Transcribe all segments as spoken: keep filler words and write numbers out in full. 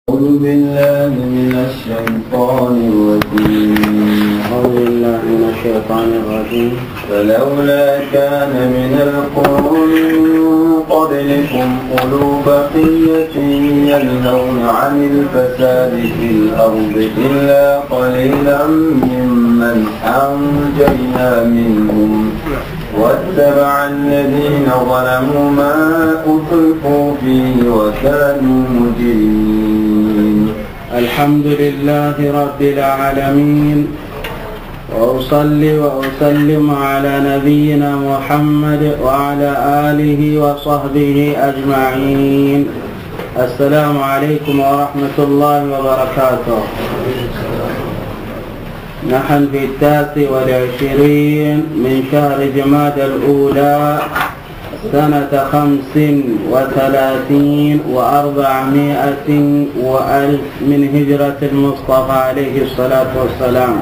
أعوذ بالله من الشيطان الرجيم. أعوذ بالله من الشيطان الرجيم. فلولا كان من القرون من قبلكم أولو بقية ينهون عن الفساد في الأرض إلا قليلا ممن أنجينا منهم واتبع الذين ظلموا ما أترفوا فيه وكانوا مجرمين. الحمد لله رب العالمين، وأصلي وأسلم على نبينا محمد وعلى آله وصحبه أجمعين. السلام عليكم ورحمة الله وبركاته. نحن في التاسع والعشرين من شهر جمادى الأولى سنة خمس وثلاثين وأربعمائة وألف من هجرة المصطفى عليه الصلاة والسلام.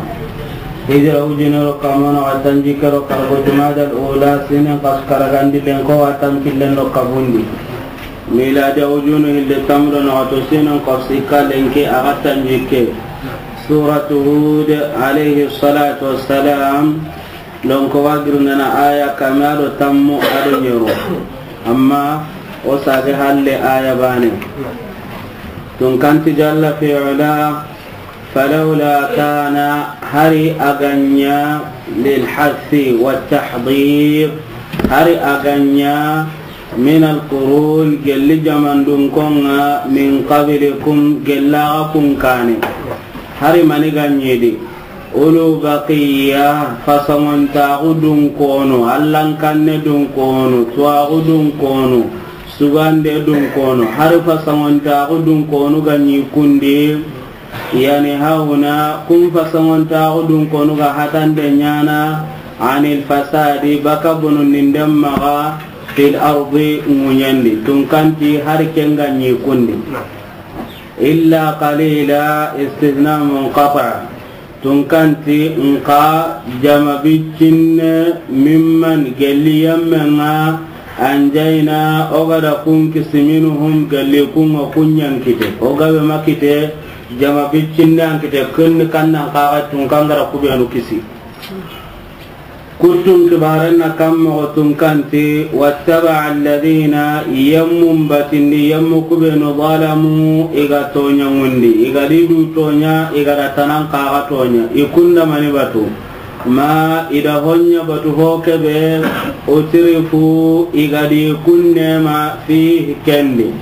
Hijira wujinero kamono wa tanjikke do kargo Jumadal Ula, sinen kasu karagandi lenki wa tankillen do kabundi. Miladi wujunu hilli tamdo no to, sinen kasu sikka lenki a ga tanjikke. Suratu Hud alayhi salatu wassalam. Lonko wa girindana aya kame do tammu do ɲero. Amma o sage halle aya bane. Tunkanti jalla fi ula, falawla kana, hari a ga ɲa, lil hassi wa tahdir, hari a ga ɲa, min al qurun, gelli jamandun konŋa, min qablikum, gella ga kun kane. Hari mani ga ɲi di. Ulu baqiya, fasangontaxu dun kono, allankanne dun kono, tuwaxu dun kono, sugande dun kono, hari fasangontaxu dun konu ga ɲi kundi, yani hahuna, kun fasangontaxu dun konu ga hatande ɲana, anil fasadi, baka bononden maxa, fil ardi, ŋuɲandi, tunkanti hari ken ga ɲi kundi. Illa qalila, istithna munqati. Tunkanti nka jama biccinne mimman gelli yammenŋa anjayna o ga da kun kisi minhum gelli kunŋa kun ɲankite. O gabe makite jama biccinne ankite kunni kannan kaga tunkan ga da kubenu kisi. Kuttun kibaren na kan moxo tunkanti, wattaba alladhina, yemmun batindi, yemmu kubenu, zalamu, i ga toɲa ŋundi, i ga di du toɲa, i ga da tanan kaga toɲa, i kunda mani batu, ma i da hoɲa batu ho kebe, utrifu, i ga di kun nema, fihi kendi,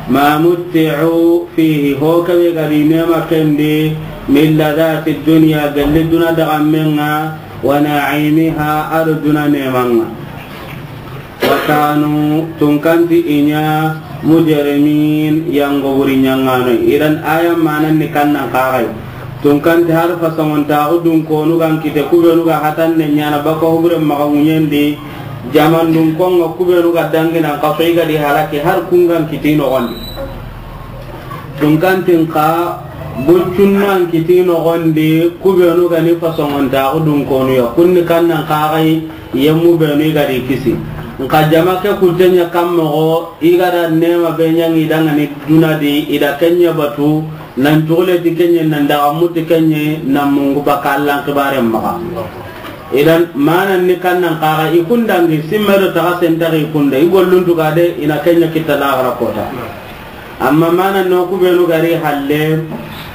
ma mutti'u fihi, ho kebe ga di nema kendi, min ladhati dunya, gelli duna daga menŋa, wa na'imiha, a do duna nemanŋa. Wa kanu, tunkanti i ɲa, mujrimin, yango wuri ɲaŋano. Idan aya manan ni kannan kagai. Tunkanti har fasangontaxu dun konu gan kite kubenu ga hatande ɲana baka hubure maxa ŋuɲendi. Jamandun konŋa kubenu ga danginan kaso i ga di halaki har kun gan kiti noxondi. Tunkantin ka buccunnan kiti noxondi kubenu gani fasongontaxu dun konuya kunni kannan kaxayi yemmu benu i gadi kisi. Nka jama ke kuttenya kan moxo i gada nema be ɲangi dangani dunadi i da kenya batu nan cuxuleti kenye nan daxamuti kenye nan mungu baka Allan xibaren maxa. Idan manan ni kannan kaxa i kundangi simme do taxa sentaxi i kunda i golluntu gade ina kenya kitta laxara kota. Amma mana no kubenu gari halle,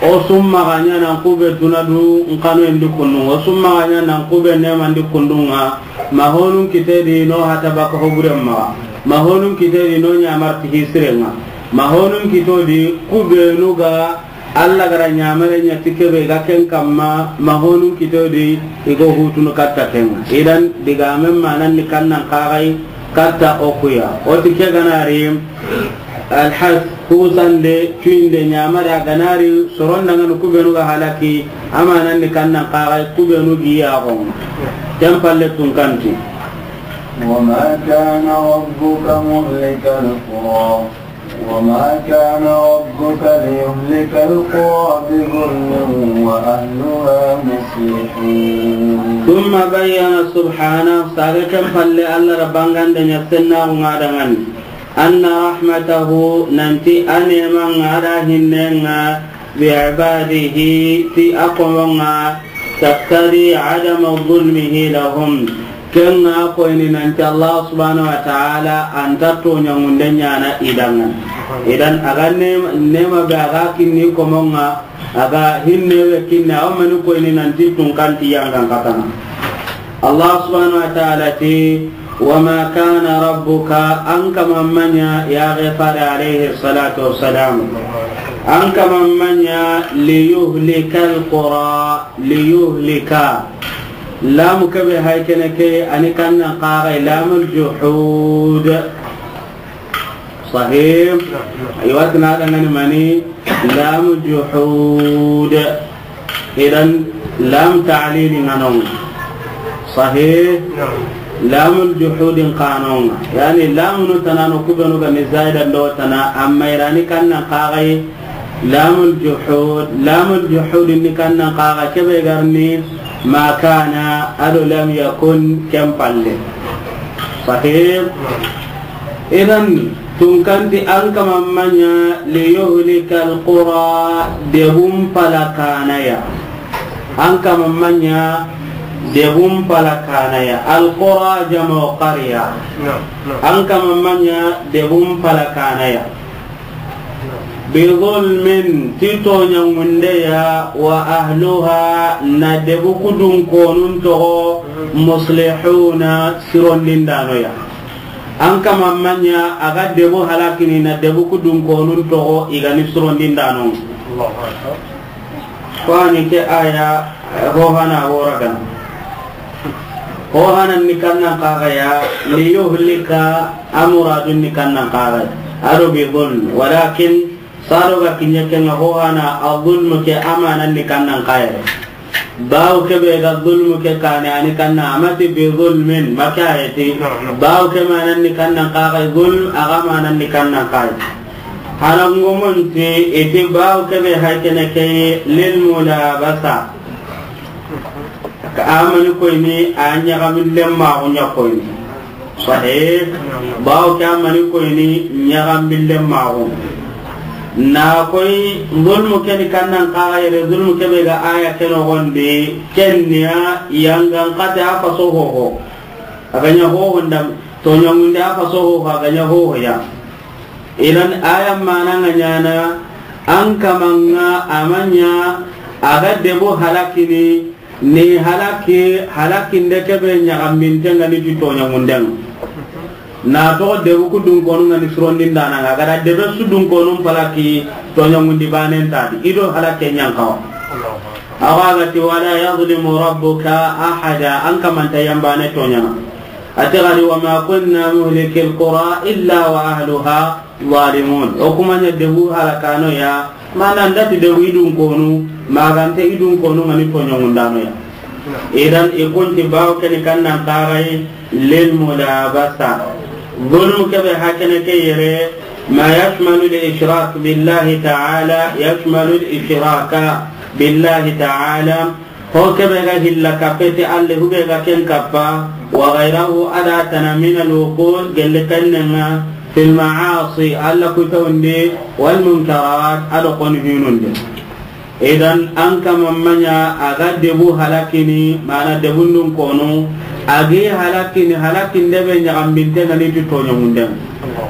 o summa ganya nan kube dunadu nkano endi kundu, o summa ganya nan kube nema ndi kundunga, ma honun kitedi no hata baka hoburen maxa, ma honun kitedi no ɲamarti hisirenga, ma honun kitodi kubenu ga Allah gara ɲamare ɲa ti kebe ga ken kamma, ma honun kitodi i go hutunu katta ken. Idan digamen manan ni kannan kaxay katta okuya. O ti ke ganari alhas kusande cuinde ɲamare a ganari soron dangani kubenu ga halaki, amanan ni kannan kaxay kubenu gi yaxon. Ken palle tunkanti. وما كان ربك مهلك القرى وما كان ربك ليهلك القرى بظلم وأهلها مصلحون. ثم بين سبحانه، sage ken palle Allah da bangande ɲa sennaxu nga dangani. أن رحمته, nanti a neeman ŋa, a da hinnen ŋa, بعباده, ti a komon ŋa, تقتضي عدم ظلمه لهم. Ken ŋa koyini nanti Allah subhanahu wa ta'ala a nta tooɲanŋunde ɲaana i danŋa. Idan a ga neema, neema be a ga kinni komon ŋa, a ga hinne be kinni, a wa mani koyini nanti tunkanti yangan katana. Allah subhanahu wa ta'ala ti, وما كان ربك, an kaman ma ɲa, ya Ghifari alayhi salatu wassalam, an kaman ma ɲa, ليهلك القرى, ليهلك. Lamu ke be hay kene ke, a ni kannan xaxay, lamul juhud. Sahih. Aywa, tana dangani mani, lamu juhud. Idan lam ta'lil ŋa no ŋa. Sahih. Lamul juhud ŋa no ŋa. Yani lamunu tanano kubenu ga ni zaida ndo tana, amma i ra ni kannan xaxay lamul juhud. Lamul juhud ni kannan xaxa ke be ga ni ma kana, a do lam yakun ken palle. Sahih. Idan tunkanti an kaman ma ɲa, ليهلك القرى, debun palakanaya. An kaman ma ɲa, debun palakanaya. القرى جمع قرية. An kaman ma ɲa, debun palakanaya. بظلم, ti tooɲanŋundeya, وأهلها, na debu kudun konun toxo, مصلحون, sirondindanoya. An kaman ma ɲa a ga debu halakini na debu kudun konun toxo i ga ni sirondindano. Allahu akbar. Ko a ni ke aya, eh, ho hana wo ra ga na. Ho hana ni kannan xaxaya, ليهلك, a muradun ni kannan xaxaya. A do بظلم, walakin saro ga kiɲe ke ŋa ho hana, الظلم ke a manan ni kannan xaxaya. Bawo ke be ga zulmu ke kane, a ni kanna, a ma ti بظلم, ma ke a yi ti. Bawo ke manan ni kannan xaxay, zulm, a ga manan ni kannan xaxay. Harangumun ti, i ti bawo ke be hay kene ke للملابسة. Ka a mani koyini, a ɲaxamillen maxu ɲa koyini. Sahih. Bawo ke a mani koyini ɲaxamillen maxu. Na koy zulmu ke ni kannan xaxa yere, zulmu ke be ga aya ke noxondi, ken ni ya yangan xate a faso hoho. A ga ɲa hoho nda, tooɲanŋunde a faso hoho, a ga ɲa hoho ya. Idan aya manan ŋa ɲaana, an kaman ŋa a ma ɲa a ga debu halakini, ni halaki, halakinde ke be ɲaxaminten ŋa ni ti tooɲanŋunden ŋa. Na toxo debu kudun konun ŋa ni sirondindanan ŋa, a ga da debe su dun konun palaki, tooɲanŋundi banen ta di, i do halake ɲa n xawa. Awa a ga ti, ولا يظلم ربك أحدا, an kaman nta yan bane tooɲana. A ti ga di, وما كنا مهلك القرى إلا وأهلها ظالمون. O ku ma ɲa debu halakano ya, mana nda ti debu i dun konu, ma ga nta i dun konu ŋa ni tooɲanŋundano ya. Idan i kun ti bawo ke ni kannan xaxay, للملابسة. Zulmu ke be hakene ke yere, ما يشمل الإشراك بالله تعالى، يشمل الإشراك بالله تعالى. Ho ke be ga hilla kappe ti Alla, hu be ga ken kappa, وغيره، a da tana من الوقوع، gelle kannen ŋa, في المعاصي، Alla kutawunde, والمنكرات، a do xonu hinunde. Idan an kaman ma ɲa a ga debu halakini, mana debun dun konu, a gi halakini, halakinde be ɲaxaminten ŋa ni ti tooɲanŋunden.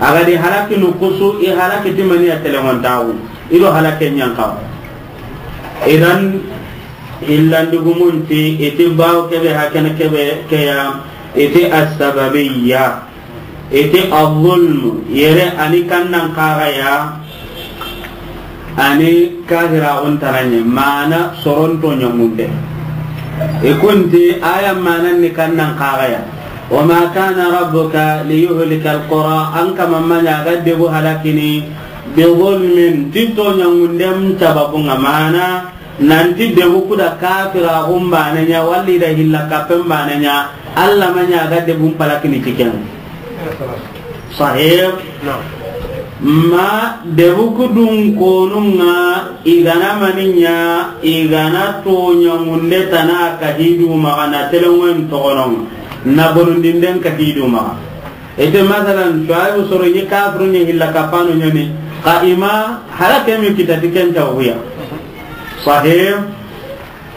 A ga di halakinu kusu, i halaki ti mani ya, telengontaxu, i do halake ɲa n xawa. Idan hillandigumun ti, i ti bawo ke be hakene ke be ke ya, i ti السببية. I ti الظلم yere, a ni kannan xaxaya, a ni kahiraxun tana ɲa, mana soron tooɲanŋunde. I kun ti aya manan ni kannan xaxaya, وما كان ربك ليهلك القرى, an kaman ma ɲa a ga debu halakini, بظلم, ti tooɲanŋunden sababun ŋa, mana nanti debu ku da kafiraxun bane ɲa, walla i da hilla kappen bane ɲa, Alla ma ɲa a ga debun palakini ti ken. Sahih. Ma debu ku dun konun ŋa, i ga na mani ɲa, i ga na tooɲanŋunde tana ka hidu maxa, na telengoyen toxonon ŋa, na bonondinden ka hidu maxa. Ite masalan, Shuaibu soro ni kafiru ni hilla kapano ñani, ka ima hala kemi kitati ken tawhiya. Sahih.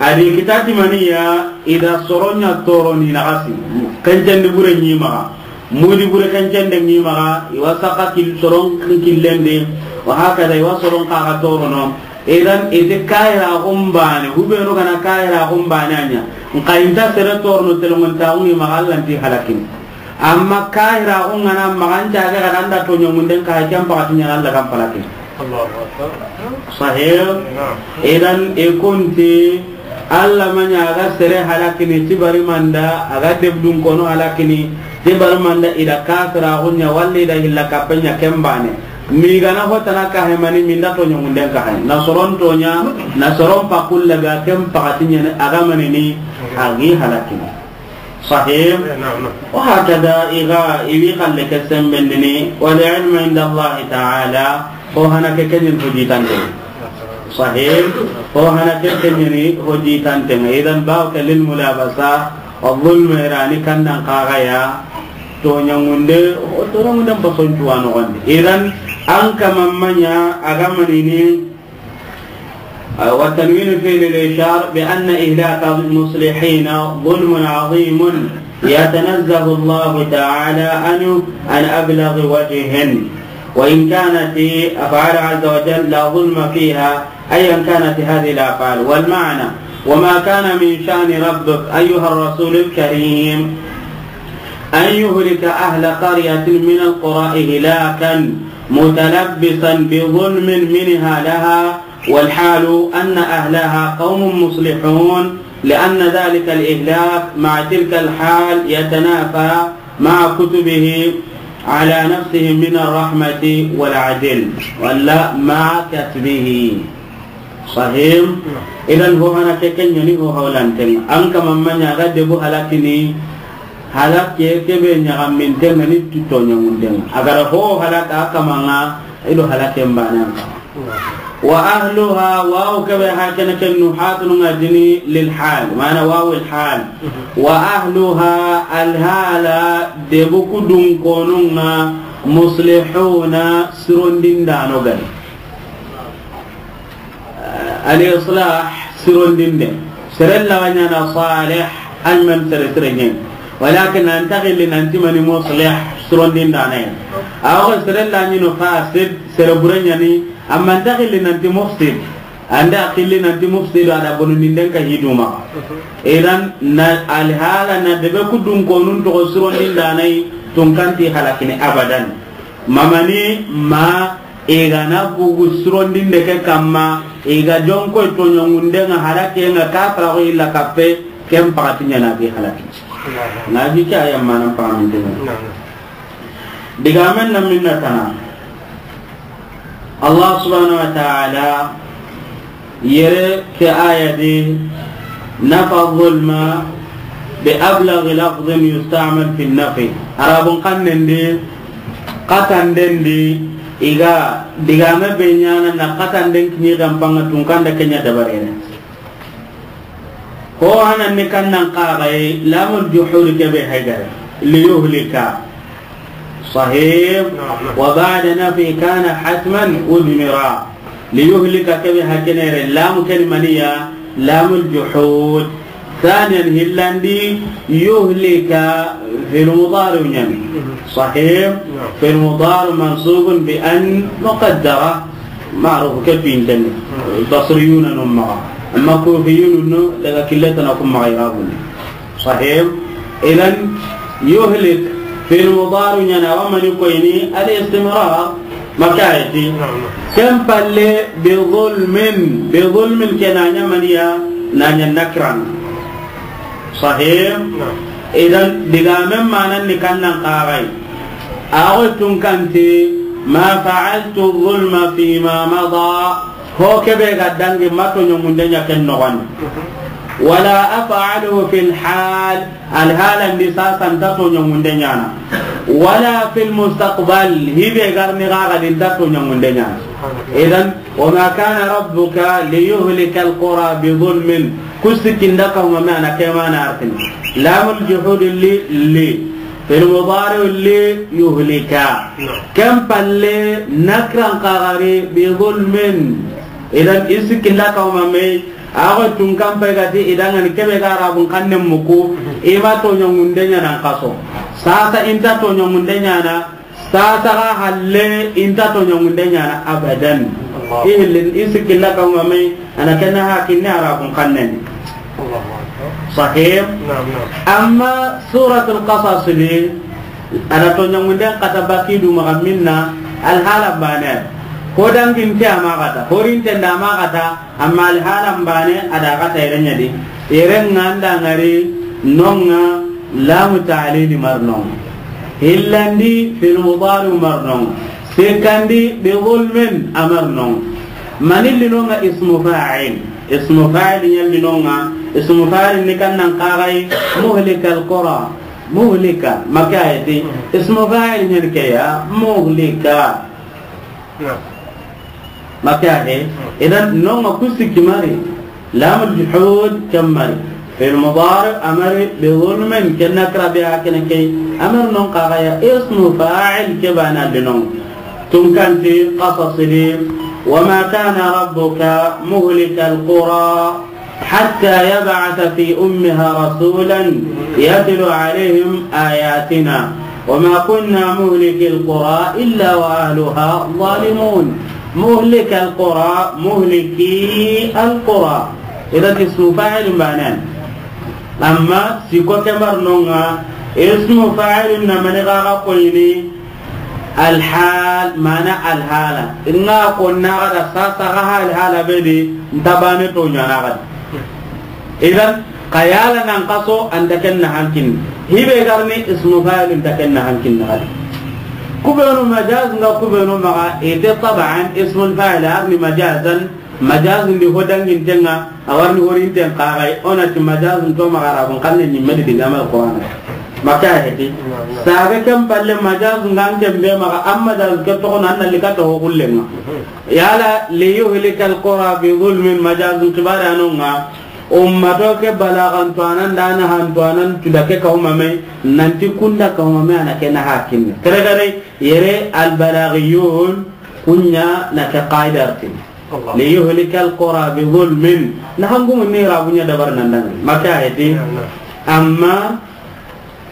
Adi kitati maniya, ida soronya toro ni nagasi. Kencende bure ni maga. Mudi bure kencende ni maga, iwa saka kil soron killendi, wa hakada iwa soron kaga torono. Idan ite kahira gumbane, hubenu gana kahira gumbane anya. Nka inta sere torono telongon taungi maga Allah nti halakin. Amma kahira gungana maganta ga gada anda to ñomunden ka ken pakati ñana Allah kan palaki. Allahu Akbar. Sahih. Naam. Idan e kunti Allah maña aga sere halakini tibari manda, aga debdun kono halakini tibari manda, ida kafira gunya walli da hilla kapenya kembane. Mi gana hotana kahemani minda to ñomunden ka hay. Na soron toña, na soron pakulla ga ken pakati ñana aga manini agi halakini. Sahih. Eh, naam, naam. Wa hakada iga iwi kalle ke sembendini, wal ilmu inda Allah ta'ala, ko hana ke kenyin hujitante. Sahih. Ko hana ke kenyin hujitante. Idan ba ke lil mulabasa, wa zulm irani kannan kagaya, to ñangunde, o to ñangunde bason tuwano gonde. Idan an kamamanya agamanini, والتنوين فيه للإشارة بأن إهلاك المصلحين ظلم عظيم يتنزه الله تعالى عنه عن أبلغ وجه، وإن كانت أفعال عز وجل لا ظلم فيها أيا كانت هذه الأفعال. والمعنى: وما كان من شأن ربك أيها الرسول الكريم أن يهلك أهل قرية من القرى إهلاكا متلبسا بظلم منها لها، والحال أن أهلها قوم مصلحون، لأن ذلك الإهلاك مع تلك الحال يتنافى مع كتبه على نفسه من الرحمة والعدل، ولا مع كتبه. Sahih. Idan ho hana ke kenyani ho hawlanten. An kamamanya ga debu halakini, halake kebe ñaxaminten ni tuto ñamunden. Agara ho halaka kamanga, ido halaken banan. Wa ahluha, wawu kebe hakene ken nuhatun ngadini lil hal, mana wawu al hal. Wa ahluha, al hala, debu kudun konunga, muslihuna, sirondindano gani. Al-islah sirondinde. Seren laga ñana salih, an men sere sere ñen. Walakin an ta xilli nanti mani muslih sirondindane. Awa seren la ñino fasid, sere bure ñani, amma an ta xilli nanti mufsid. Anda xilli nanti mufsid, ada bonunden ka hiduma. Idan na alhala na debe kudun konun to sirondindane tun kanti halakini abadan. Mamani ma I ga na bugu sirondinde ke kamma, i ga jonko toñongunde nga, halakenga kafara ko illa kappe, ken pakati ñana ke halaki. Na bi ke aya manan pamanten. Digamen na minna tana. Allah subhanahu wa ta'ala yere ke aya di nafa zulma bi ablaghi lafdhin yusta'mal fi nafi. Arabun xannen di, xatanden di, i ga digame be ñana na xatanden kiñi gampanga tunkanda kenya dabarene. Ho hanan ni kannan qaxay lamul juhud kebe haygara. Li yuhlika. Sahih. Naam, naam. Wa ba'da nafi kana hatman udmira. Li yuhlika kebe hakenere lamu ken maniya lamul juhud. Thaniyan hillandi yuhlika fil mudari ñani. Sahih. Naam. Fil mudari mansubun bi an muqaddara. Ma'ruf ke pinten. Basriyuna no maxa. Amma kufiyuna no daga killetana ku maxa irabuni. Sahih. Idan yuhlik fil mudari ñana wa mani koyni al istimrar. Makayati. Naam, naam. Ken palle bi zulmin, bi zulmin ke na ña maniya, na ña nakran. Sahih. Naam. Idan digamen manan ni kannan qaxay. Awo tun kanti ma fa'altu zulma fi ma mada. Ho kebe ga dangi ma toñongunde ña ken noxon. Wala af'aluhu fil hal, al halan di sasan ta toñongunde ñana. Wala fil mustaqbal, hibe garni ga ga din ta toñongunde ñana. Idan, wa ma kana rabbuka li yuhlika al qura bi zulmin. Kusikinda ka huma mana kemana artin. Lamul juhud li, li. Fil mudari li yuhlika. Naam. Ken palle nakran xagari bi zulmin. Idan i sikki nda kawma me, a ga tunkan pay ga ti i danŋa ni kebe ga Arabun xannen muku, i ma toɲangunde ɲaana n xaso. Sasa i nta toɲangunde ɲaana, sasa ga halle i nta toɲangunde ɲaana abadan. Allah. I hilli, i sikki nda kawma me, a na ken na hakinni Arabun xannen. Allahu akbar. Sahih? Naam, naam. Amma Suratul Qasas di, a da toɲangunden xata baki du maxa minna, alhalan baane. Ho danginte a ma xata, horinte nda a ma xata, amma alhalan baane a da xata yere ɲa di. Yere ŋa nda ŋari no ŋa, lamu ta'lili ma ri no ŋa. Hillandi fil mudari ma ri no ŋa. Sikkandi bi zulmin a ma ri no ŋa. Mani li no ŋa? Ismu fa'il. Ismu fa'il ɲa li no ŋa. Ismu fa'il ni kan nan xaxay muhlikal qura. Muhlika. Maka ayati. Ismu fa'il ɲa ni ke ya. Muhlika. Naam. Maka ahe. Idan no ŋa ku sikki ma ri. Lamul juhud ken ma ri. Fil mudari a ma ri, bi zulmin ken nakira be a kene ke. A ma ri no ŋa xaxa ya ismu fa'il ke baane a li no ŋa. Tunkanti Qasas di, wa ma kana rabbuka muhlikal qura hatta yab'atha fi ummiha rasulan yatlu alayhim ayatina wa ma kunna muhlikil qura illa wa ahluha zalimun. Muhlikal qura, muhliki al qura. Idan ismu fa'il baane. Amma sikko ke ma ri no ŋa, ismu fa'il na mani xaxa koyini, alhal, mana alhala. Ŋa ko na ga da sasa ga alhala be di, nta baane toɲaana ga di. Idan, xa yala nan xaso a nta ken na hankin. Hibe ga ri ni ismu fa'il nta ken na hankin na ga di. Kubenu majaz ŋa, kubenu maxa, ite taban ismul fa'il a ri ni majazan, majazun di ho danginte ŋa, a wa ri ni horinten xaxay, o na ti majazun to maxa Arabun xannen ɲi me di digaame Qur'ana. Maka heti. Saga ken palle majazun ŋa an ken be maxa, an majazun ke toxo na an na li kata ho xulle ŋa. Yala li yuhlikal qura bi zulmin majazun xibaare a no ŋa. Ummato ke balagan to a nan da na han to a nan tu da ke kawma me, nanti kunda kawma me a na ke na hakinni. Kere kere yere al balaghiyun kunya na ke qaida artin. Allah. Li yuhlikal qura bi zulmin. Na hangumu ni rabunya dabar nan dan. Maka heti. Amma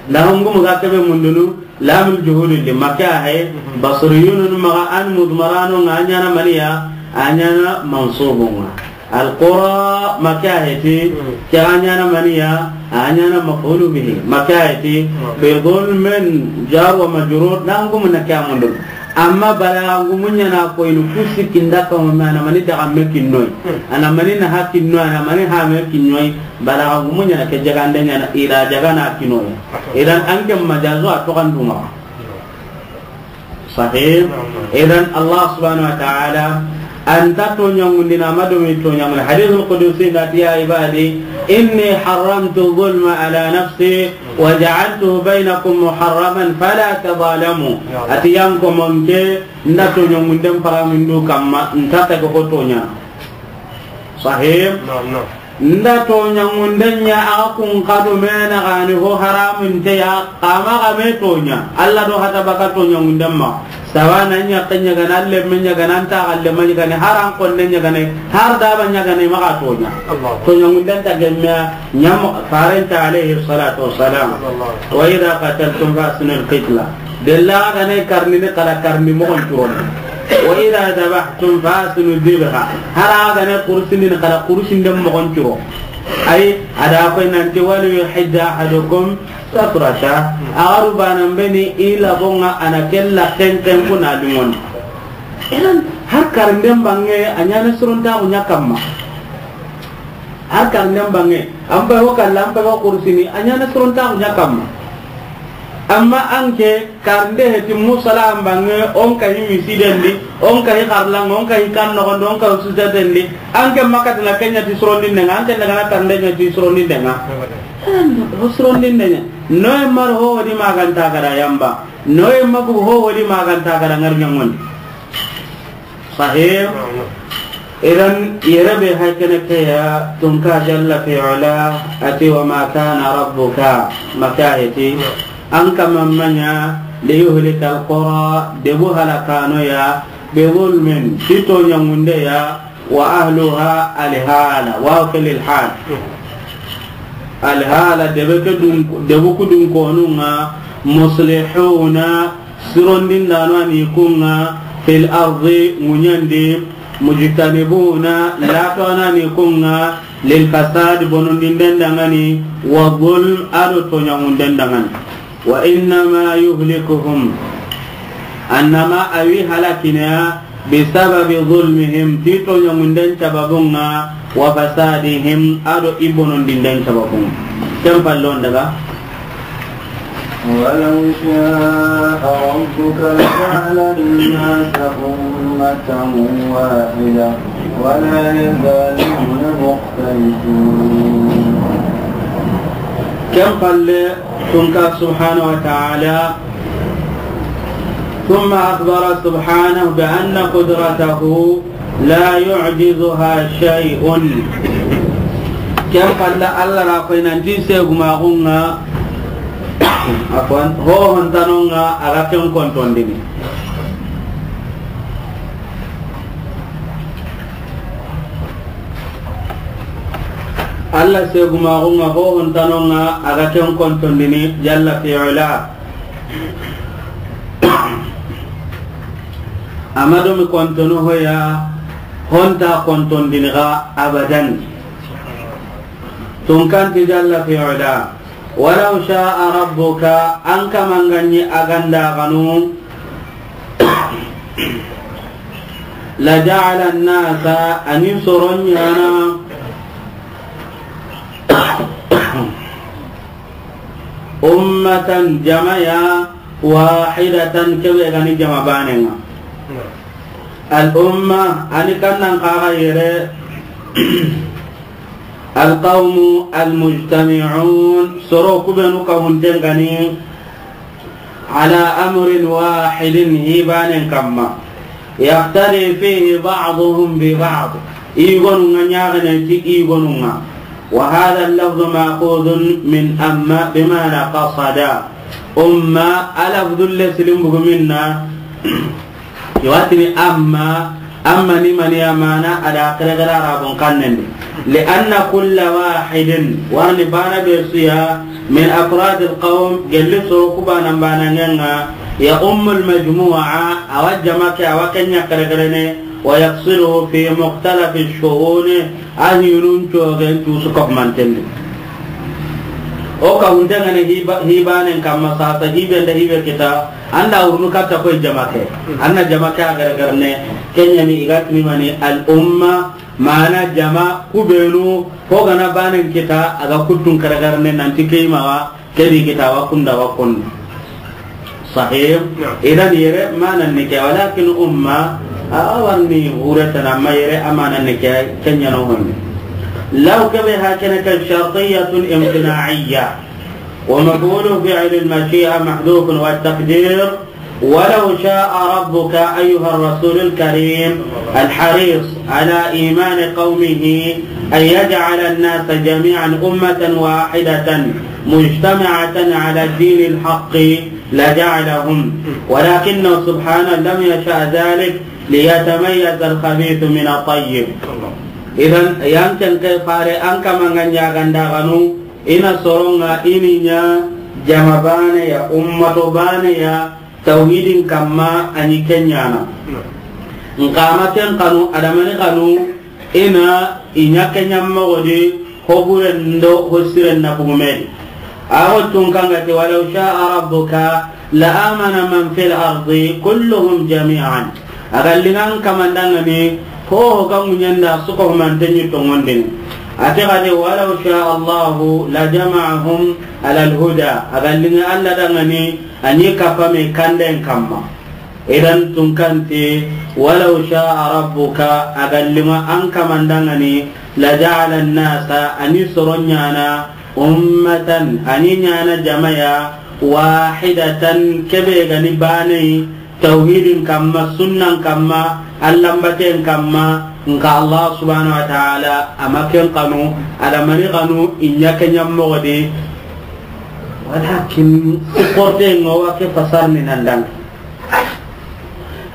na hangumu ga kebe mundunu, lamul juhudi li maka he. Basriyun maxa an mudmaranu ŋa a ɲaana maniya, a ɲaana mansubun ŋa. Al qura maka heti, ke a ɲaana maniya, a ɲaana maf'ulu bihi. Maka heti, bi zulmin jar wa majrur, na hangumu na ke a mundunu. Amma balaga ngumu ɲaana koyini ku sikki nda kawma me a na mani daga me kinnoy. A na mani na ha kinnoy, a na mani ha me kinnoy. Balaga ngumu ɲaana ke jagande ɲaana ila jagana kinnoy. Idan an ke majazu a toxanduma. Sahih. Idan Allah subhanahu wa ta'ala a nta toɲangundini, a ma do mi toɲangundi. Hadithul qudusi na ti, ya ibadi, inni haramtu zulma ala nafsi, وجعلته بينكم محرما فلا تظالموا. Ati yan ko monke, nda toɲangunden paramindu kamma, nta ta ko toɲa. Sahih? Naam, naam. Nda toɲangunden ɲa a kun kadu mena gani ho haramun te ya, kama ga me toɲa. Allah do hata baka toɲangunden ma. Sawa na ɲa ke ɲagana, lemme ɲagana, nta galle ma ɲagana, har an konne ɲagana, har daba ɲagana, maxa toɲa. Allah. Toɲangunden ta gemme ɲa mo, farenta alayhi salatu wassalam. Allah. Wa idha qataltum fa ahsinul qitla. Della ga ne karni ni kala karni moxon curon. Wa idha dhabhtum fa ahsinu dhabha. Har a ga ne kursini ni kala kursinden moxon curo. Ay, a da koy nanti wal yuhidda ahadukum shafratahu, a ga ru banan be ni i laxon ŋa a na ke laxen ken kuna liŋondi. Idan, har karnden banŋe a ɲaana sorontaxu ɲa kamma. Har karnden banŋe, an pay ho kalla, an pay ho kursini, a ɲaana sorontaxu ɲa kamma. Amma an ke, karnde heti musala an banŋe, o n kahi misiden di, o n kahi xarlan ŋa, o n kahi kan noxon di, o n kahi sujaden di, an ke ma kati na ke ɲa ti sorondinde ŋa, an ke na ga na karnde ɲa ti sorondinde ŋa. Ho sorondinde ɲa. Noye ma ri ho ho di ma ga nta ga da yamba. Noye ma bugu ho ho di ma ga nta ga da ŋari ɲaŋondi. Sahih. Idan yere be hay kene ke ya tunka jalla fi ula ati wa ma kana rabbuka, maka heti. An kaman ma ɲa, liyuhlika alqura, debu halakano ya, bizulmin, ti toɲangunde ya, wa ahluha, alhala, wa fil hal. Alhala, debe ke dun, debu ku dun konun ŋa, muslihuna, sirondindano a ni kun ŋa, fil ardi, ŋuɲandi, mujtanibuna, lato a na ni kun ŋa, lil fasad, bonondinden dangani, wa zulm, ado toɲangunden dangani. Wa innama yuhlikuhum, annama a wi halakini ya, bisababi zulmihim, ti toɲangunden sababun ŋa, wa fasadihim, ado i bonondinden sababun ŋa. Ken pallon daga. ولو شاء ربك لجعل الناس أمة واحدة ولا يزالون مختلفين. Ken palle, Tunka subhanahu wa ta'ala, ثم أخبر سبحانه بأن قدرته لا يعجزها شيء. Ken palle, Alla ra koy nanti segumaxun ŋa, afwan, hohontanon ŋa, a ga ken kontondini. Alla segumaxun ŋa, hohontanon ŋa, a ga ken kontondini, jalla fi ula. Amadu mi kontono hoya, honta kontondini ga abadan. Tunkanti jalla fi ula. Walau sha'a rabbuka, an kaman ga ɲi a ga nda xanu, la ja'ala an-nasa, a ni soron ɲaana, ummatan, jama ya, wahidatan, kebe ga ni jama banen ŋa. Al umma, a ni kannan kaga yere, al qawmu al mujtami'un, soro kubenu kahunten ga ni, ala amrin wahidin, hi banen kamma. Yaqtadi fihi ba'duhum bi ba'd. I gonu ŋa ɲaxene ti i gonu ŋa. Wa hadha al-lafzu ma'khudhun min amma bima'na qasada. Umma, a lafzu le silimbugu minna. Iwatini amma, amma ni mani ya mana a da kere gara Arabun xannen di. Li anna kulla wahidin, warni bana be su ya, min afrad al-qawm, gelli soro ku banan banan ŋa, ya ummul majmu'a, a wa jama ke, a wa ken ɲa kere kere ne, wa yaqsiduhu fi mukhtalaf ash-shu'un, a hinun cogen tu su ko manten di. O kahunten ga ni hi ba-, hi banen kamma sasa, hi be nda hi be kita, an da wurunu katta koy jama ke. An na jama ke a gargarne, ken ɲa ni i ga tini mani al umma, mana jama kubenu, ho ga na banen kita, a ga kuttun gargarne nanti ke i ma wa, ke di kita wa kunda wa kunda. Sahih? Naam. Idan yere manan ni ke, walakin umma, a, a warni wureta na ma yere a manan ni ke, ken ɲa no honni. Law kebe hakene ke shartiyatun imtina'iyya. ومفعول فعل المشيئة محذوف والتقدير ولو شاء ربك أيها الرسول الكريم الحريص على إيمان قومه أن يجعل الناس جميعا أمة واحدة مجتمعة على الدين الحق لجعلهم ولكنه سبحانه لم يشأ ذلك ليتميز الخبيث من الطيب. Idan, yan ken ke fare an kaman ga ɲa ga nda xanu, i na soron ŋa i ni ɲa jama bane ya, ummato bane ya, tawhidin kamma a ni ken ɲaana. Nxa ma ken xanu, adamani xanu, i na i ɲa ken ɲa moxo di, ho buren do ho siren na bugu me di. A wo tun kan ga ti, walaw sha'a rabbuka la amana man fil ardi kulluhum jami'an. A ga liŋa an kaman da ŋa ni, ho ho ga ŋuɲen da su ko humanten ɲi tonŋondini. A ti ga de, walaw sha'a Allahu la jama'ahum alal huda. A ga liŋa Alla da ŋa ni, a ɲi kappa me kanden kamma. Idan tun kan ti, walaw sha'a rabbuka, a ga liŋa an kaman da ŋa ni, la ja'ala an-nasa, a ni soron ɲaana, ummatan, a ni ɲaana jama ya, wahidatan, kebe ga ni bane yi, tawhidin kamma, sunnan kamma, Allan baten kamma, nxa Allah subhanahu wa ta'ala a ma ken xanu, adamani xanu, i ɲa ken ɲa moxo di, Walakin i korte ŋa wa ke fasar ni nan dang.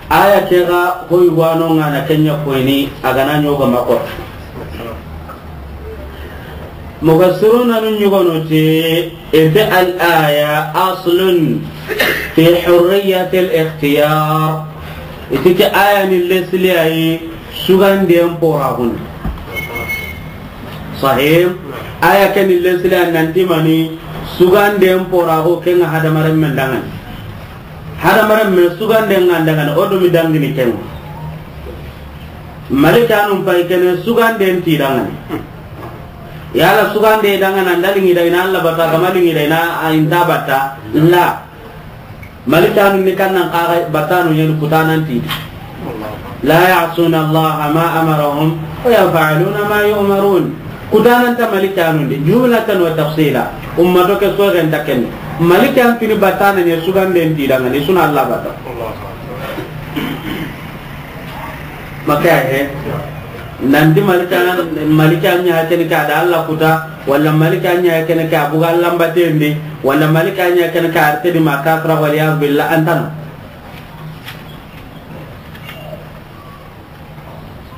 Aya ke ga hoy wano ŋa na kenya koyni a ga na ɲoga ma ko. Mufassiruna nun ɲugono ti, ite al aya aslun fi hurriyatil ikhtiyar. Iti ke aya ni lesli ayi suganden poraxun. Sahih. Aya ke ni lesli ayi nanti mani suganden poraxu ke ŋa hadamaren men dangani. Hadamaren men suganden ŋa dangani, o do mi dangini ke ŋa. Malikanun pay kene suganden ti dangani. Yala sugande dangana ndali ngi dayna Allah bata, gama lingi dayna a inta bata. La. Malikanun ni kannan kaga batanu yen kutanan ti. La ya'suna Allah ma amarahum wa yaf'aluna ma yu'marun. Kutanan ta malikanun di jumlatan wa tafsila. Ummato ke sogen taken. Malikan fini batana ne suganden ti dangani suna Allah bata. Maka he. Nanti malika, malika ɲa kene ka da Allah kuta, wala malika ɲa kene ka buga Allah mbatendi, wala malika ɲa kene ka arte di makafra wal iyaz billah antano.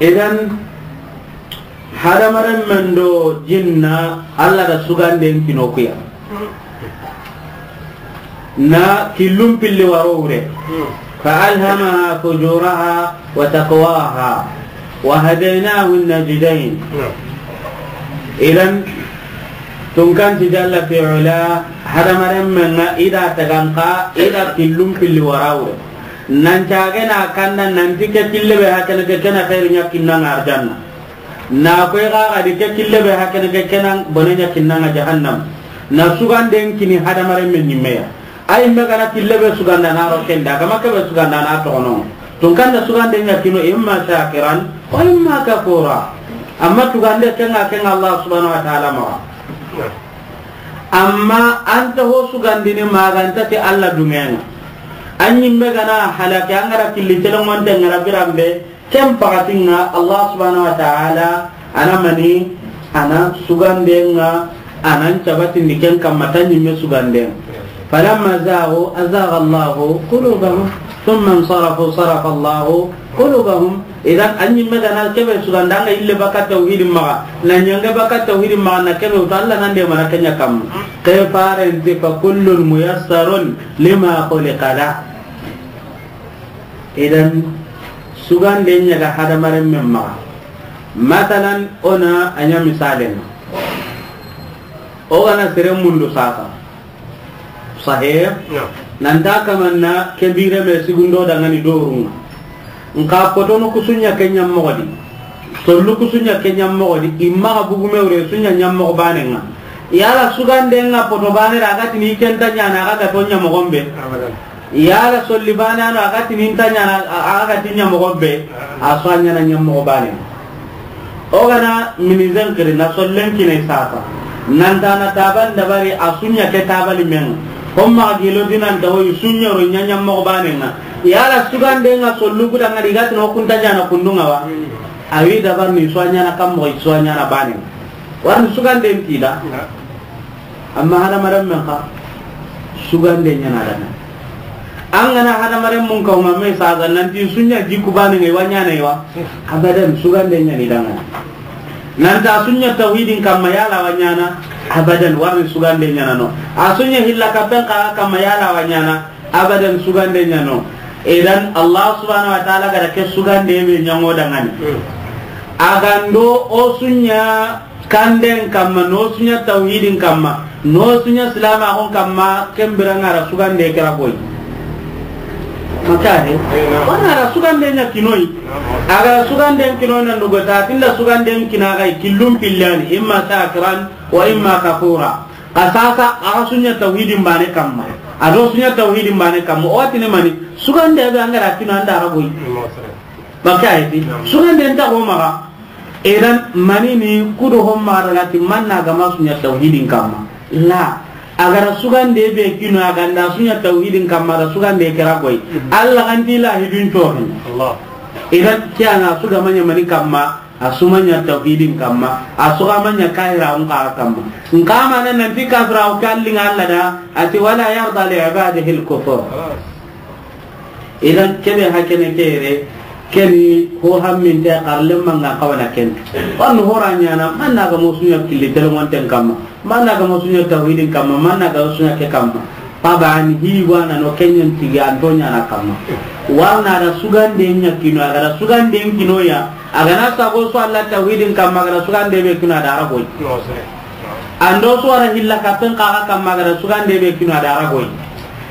Idan hadamaren men do jinna Allah da suganden kinokuya. Na killum pilli waro wure. Fa alhamaha fujuraha wa taqwaha wa hadaynahu najdayn. Idan tunkanti jalla fi ula hadamaren men ŋa ida taganka ida killum pilli wara wure. Nan cage na kanda nanti ke kille be hakene ke kena khairu ɲa kinna ŋa arjanna. Na koy ga ga di ke kille be hakene ke kena bone ɲa kinna ŋa jahannam. Na suganden kini hadamaren men ɲimmeya. Ay me gana kille be suganda na ro kenda, gama ke be suganda na toxono. Tun kanda sugande ɲa kino imma shakiran wa imma kafura. Amma tugande kenga kenga Allah subhanahu wa ta'ala ma. Amma anta ho sugandini maganta ti Allah dungenga. An ɲimme gana halake angara killi telongonte ngara birambe. Ken pakatinga Allah subhanahu wa ta'ala ana mani ana sugandenga anan cabatindi ken kamma ta ɲimme suganden. Falamma zagu azaga Allahu qulubahum thumma insarafu sarafa Allahu qulubahum. Idan an ɲimme gana kebe sugandanga ille baka tawhidin maga na ɲange baka tawhidin maga na kebe uta Allah nan de mana kenya kamma. Ke farenti fa kullun muyassarun lima khuliqa la. Idan sugande ɲaga hadamaren men maxa. Masalan, o na a ɲa misalen ŋa. O gana sere mundu sasa. Sahih. Nanta kamanna ke bire me sigundo dangani dorunga. Nka potono kusunya kenya mogodi. Sollu kusunya kenya mogodi. Imma ga bugume wure sunya nya mogo banenga. Yala sugande nga poto bane raga tini kenta ɲana aga gato ɲa mogombe. Yala solli bane ano aga tini nta ɲana aga tini ɲa mogombe. A so ɲana ɲa mogo bane. O gana minizen kiri na sollen kine sasa. Nanta na taban dabari a sunya ke tabali men. Homma gilo dinan da hoy sunya ro ɲa ɲa mogo bane nga. Yala sugande nga sollu kuda nga diga tino kunta ɲana kundunga wa. Awi dabar ni so ɲana kam mo so ɲana bane. Warni sugande ntida. Amma hadamaren men xa sugande ɲana dana. An gana hadamaren mun kaw ma me saga nanti sunya jiku bane ngai wanyana iwa. Abadan sugande ɲani dana. Nanta sunya tawhidin kamma yala wanyana. Abadan warni sugande ɲana no. A sunya hilla kapen xa kamma yala wanyana. Abadan sugande ɲano. Idan Allah subhanahu wa ta'ala gara ke sugande be ɲango dangani. Agando o sunya kanden kamma, no sunya tawhidin kamma, no sunya silama hon kamma, kembira ngara sugande kira boy. Makare. Wana ara sugande nya kinoi. Agara sugande kinoi nan dugo ta tinda sugande kinagai killum pillani imma shakiran wa imma kafura. Ka sasa aga sunya tawhidin bane kamma. Ado sunya tawhidin bane kamma. O watine mani sugande be angara kino anda raboy. Baka ayati. Sugande nta ko maga. Idan mani ni kudo homma daga ti manna gama sunya tawhidin kamma. La. Agara sugande be kino aganda sunya tawhidin kamma da sugande kira koy. Allah ganti la hidun tohin. Allah. Idan kiyana suga manya mani kamma. A su ma ɲa tawhidin kamma, a su ga ma ɲa kahiraxun kaxa kamma. N xa ma na nanti kafiraxu ke a li ŋa Alla da, a ti, "Wala yarda li ibadihi al-kufur." Idan, kebe hakene ke yere, keni ho hamminte xarlen manga xawana ken. Wanu hora ɲana, man na ga mosuɲa killi telemonten kamma. Man na ga mosuɲa tawhidin kamma, man na ga mosuɲa ke kamma. Paba ani hi wana no kenyen tigi anto ɲana kamma. Warna da sugande ɲa kino, a ga da sugande kino ya. A ga na sago su Alla tawhidin kamma, a ga da sugande be kino a da ragoy. Ando su wara hilla kapen kaxa kamma, a ga da sugande be kino a da ragoy.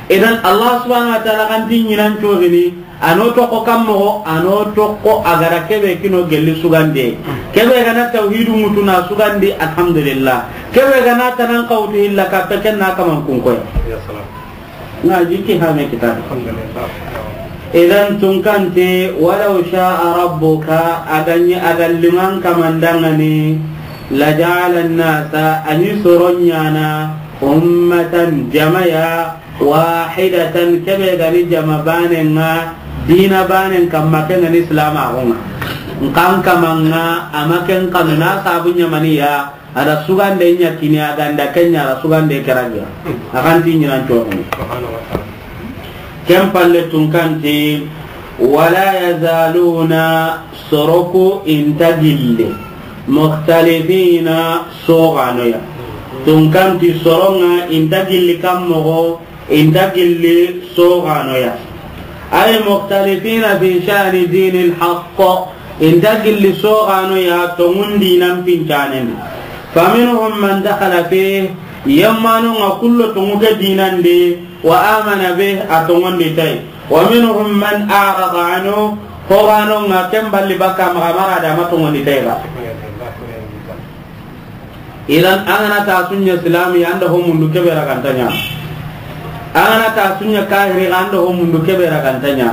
Idan Allah subhanahu wa ta'ala kan ti ɲinan cogini, ano toxo kam moxo, ano toxo a ga da kebe kino gelli sugande. Kebe ga na tawhidu ŋutu na sugandi, alhamdulillah. Kebe ga na tanan kawtu hilla kape ken na kaman kunkoy. Ya salam. Na jiki hame kita. Alhamdulillah. Idan tunkanti, "Walaw sha'a rabbuka," a ga ɲi a ga liman kamandangani, "laja'ala an-nasa," a ɲi soron ɲana, "ummatan," jamaya, "wahidatan," kebe ga ni jama banen ŋa, dina banen kamma ken ga ni Islam a xo ŋa. N kan kamanga, a ma ken kanu na sabu ɲamaniya, a da sugande ɲa kini, a ga nda ken ɲa, a da sugande keragiya. A kan ti ɲinan cogini. Ken palle tunkanti, "Wala yazaluna," soroku inta gilli, "mukhtalifina," soganoya. Tunkanti soronga inta gilli kam moxo, inta gilli soganoya. Ay mukhtalifina fi sha'ni dinil haqq, inta gilli soganoya tongun dinan pincanendi. Faminhum man dakhala fih, yemmanonga kullo tongu ke dinandi, wa amana bih, a tongondi tay. Wa minhum man a'rada anhu, hoganonga ken balli bakka maxa, mara da ma tongondi tay ba. Idan, an ga na ta sunya silami, an da ho mundu kebe raganta ɲa. An ga na ta sunya kahiri, an da ho mundu kebe raganta ɲa.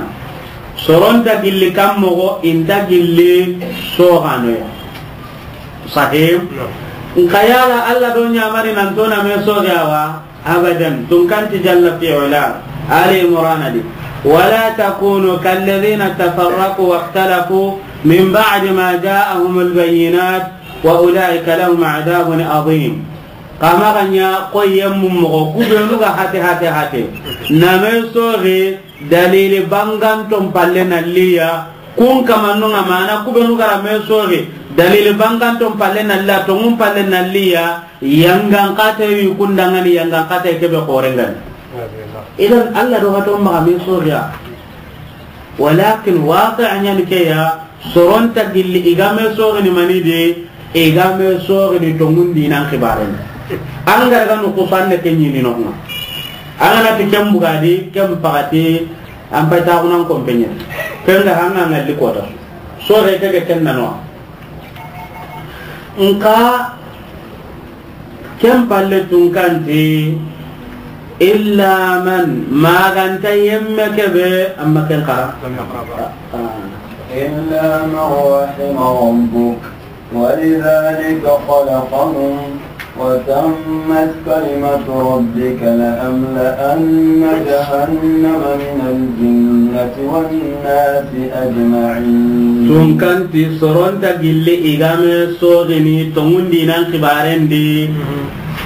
Soronta gilli kam moxo, inta gilli soganoya. Sahih. Nka yala Allah do ɲamari nan to na me soge awa? Abadan. Tunkanti jalla fi ula. Ali Imran di. Wala takunu kalladhina tafarraqu wakhtalafu min ba'di ma ja'ahumul bayyinat wa ulaika lahum adhabun adhim. Kama ganya ko yemmu moxo kubenu ga hate, hate, hate. Na me soge dalili banganton palle na liya, kun kamannunga mana kubenu ga ra me soge dalili banganton palle na liya, tongun palle na liya, yangan kate wi kundangani, yangan kate kebe korengani. Idan Allah do hato maxa me soge ya. Walakin waqi' ɲani ke ya, soronta gilli i ga me sogini mani de, i ga me sogini tongun dinan xibaren. An ga ra ga nukusanne ke ɲini nonga. An ga na ti ken bugadi, ken pagati, an pay taxunan kompeɲe. Ken ga hanga ngalli kota. Soge ke ke ken nanoa. Nka ken palle tunkanti, illa man, maganta yemme kebe, amma ken xara. Ah. إلا من رحم ربك، ولذلك خلقهم، وتمت كلمة ربك لأملأن جهنم من الجنة والناس أجمعين. Tunkanti soronta gilli i ga me sogini tongun dinan xibaren di.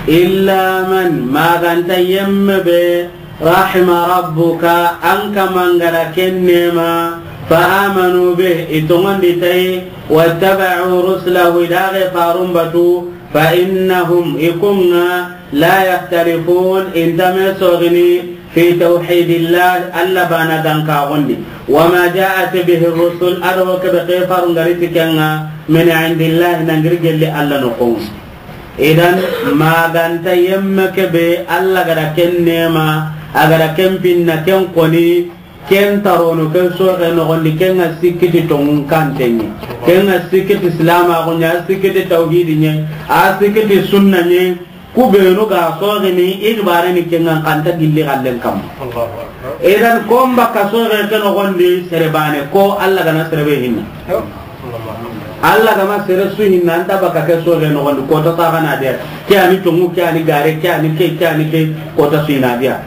Illa man, maganta yemme be, rahima rabbuka, an kaman ga ra ken nema, fa amanu bih, i tongondi tay, wattaba'u rusulahu, i daxe farun batu, fa innahum, i kunga, la yakhtalifun, inta me sogini, fi tawhidillah, Allah bana gankaxundi, wa ma ja'at bihi rusul, ado kebe ke farun ga ri ti kenga, min indillah, nangiri gelli Allah noxon. Idan, maganta yemme kebe, Allah ga ra ken nema, a ga ra ken pinna, ken koni, ken tarono, ken soxe noxondi, ken ga sikkiti tongun kantenye, ken ga sikkiti silamaxu ɲa, a sikkiti tawhidi ɲa, a sikkiti sunna ɲa, ku benu ga soxini, i xibareni ken ga kanta gilli xallen kamma. Allahu Akbar. Idan, kon bakka soxe ke noxondi, sere bane, ko Allah ga na sere be hinna. Allah ga ma sere su hinna, anta baka ke soxe noxondi, kota saxana dia. Ke ani tongu, ke ani gare, ke ani ke, ke ani ke, kota su hina dia.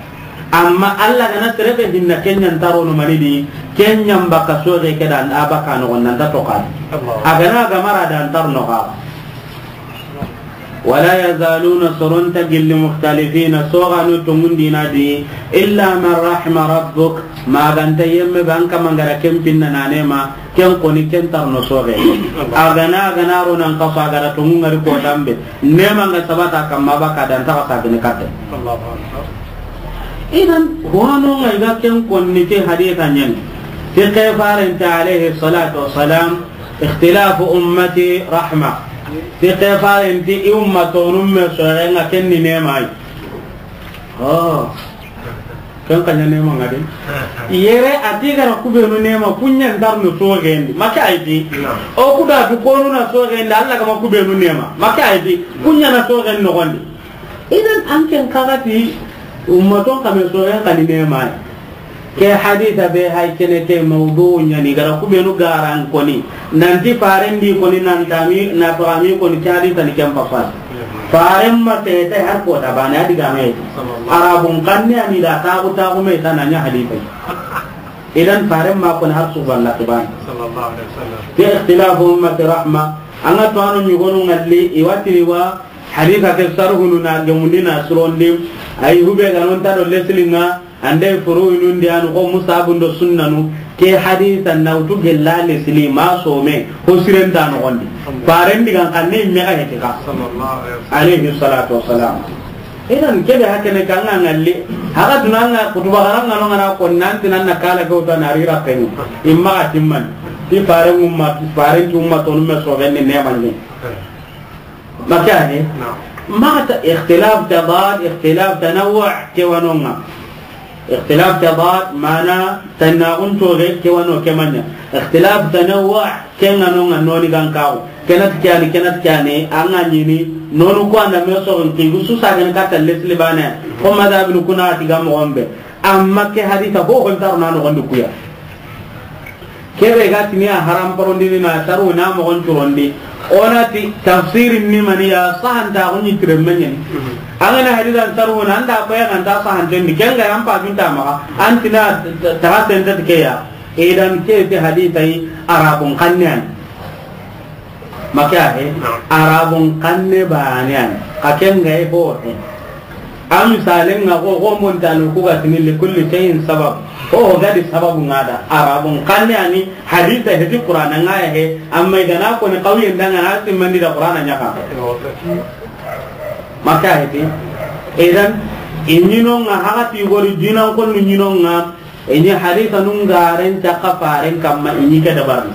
Amma Alla ga na sere be hinna, ken ɲa nta ro no mani di, ken ɲa n baka soxe ke da a baka noxon na nta toxo a di. A ga na gamara da nta ro no xa. ولا يزالون, soro nta gilli, مختلفين, soxanu tonŋundini a di, إلا من رحم ربك, ma ga nta yemme be an kama n ga da ken pinna na neema, ken koni ken nta ro no soxe. A ga na, a ga na ro nan kaso, a ga da tonŋu ŋari kotan be, neema n ga sabata kamma, baka da nta xa sagini katte. Idan, hono ŋa i ga ken konni ti hadisa ɲa ni. Ti ke faren ti alayhi salatu wassalam, اختلاف أمتي رحمة. Ti ke faren ti i ummatonu me soxen ŋa, ken ni neema yi. Oh. Ken xa ɲa neema ŋa de. Yere a ti ga ra ku benu neema, ku ɲa nta ro no soxen di. Ma ke a yi di. O ku da tu konu na soxen di, Alla ga ma ku benu neema. Ma ke a yi di. Ku ɲa na soxen noxon di. Idan an ken xa ga ti ummaton xa me soxen xa ni neema yi. Ke hadisa be hay kene ke mawdu ɲa ni, ga ra ku benu garan koni, nanti faren di koni, nan tami, na to ami koni, ke hadisa ni ken papa. Faren ma te te har ko da bane a di ga me. Arabun xanne ani da ta ku ta ku me ta na ɲa hadisa. Idan faren ma koni har su balla kiban. Ke اختلاف أمتي رحمة. An ga to anu ɲi gonu ŋalli, i wa ti ni wa hadisa ke sarhunu na gemundi na surondi, ay hube ga non ta do leslinga, ande furu inundi anu ko musabun do sunnanu, ke hadisa na wutu gella lesli ma some, ho siren ta noxon di. Faren di ga xanne me ga heti ka. Alayhi salatu wassalam. Idan ke be hakene kan ŋa ŋalli, haga duna ŋa kutuba xaran ŋa no ŋa na ko nan ti nan na kala ko ta na rira kenu. Imma a timman. Ti faren umma, faren ti ummatonu me soxen ni neema ni. Ma ke a yi? Ma ta اختلاف تضاد، اختلاف تنوع, ke wa no ŋa. اختلاف تضاد, mana tannaxun toxe, ke wa no ke ma ɲa. اختلاف تنوع, ke ŋa no ŋa noni gan kaxu. Ke na ti ke ya ni, ke na ti ke ya ni, a ŋa ɲi ni, nonu ku a na me soxen ki, gu su sagani katta lesli bane. Ko madhabinu ku na ti ga moxon be. Amma ke hadisa ho ho nta ro na noxon di ku ya. Ke be ga ti ni a haram parondini na saru na moxon curondi. O na ti tafsirin ni mani ya sahanta ko ni tire me ɲa ni. An ga na hadisan saru na an da ko ya ga nta sahanten di. Ken ga an pa junta maxa. An ti na ta, ta, ta sente ke ya. Idan ke ti hadisa yi Arabun xanne ya ni. Ma ke a yi? Arabun xanne bane ya ni. Xa ken ga yi ho he. A misalen ŋa ko, ko montanu ku ga ti ni لكل شيء سبب. Ho ho ga di sababu ŋa da. Arabun xanne ya ni hadisa heti Qur'ana ŋa ya he. Amma i ga na ko ni xawiyen da ŋa na simmandi da Qur'ana ɲa ka. Ma ke a yi ti. Idan, i ɲi no ŋa haga ti gori dinan ko nu ɲi no ŋa. I ɲi hadisa nun garen caka faren kamma, i ɲi ke dabarni.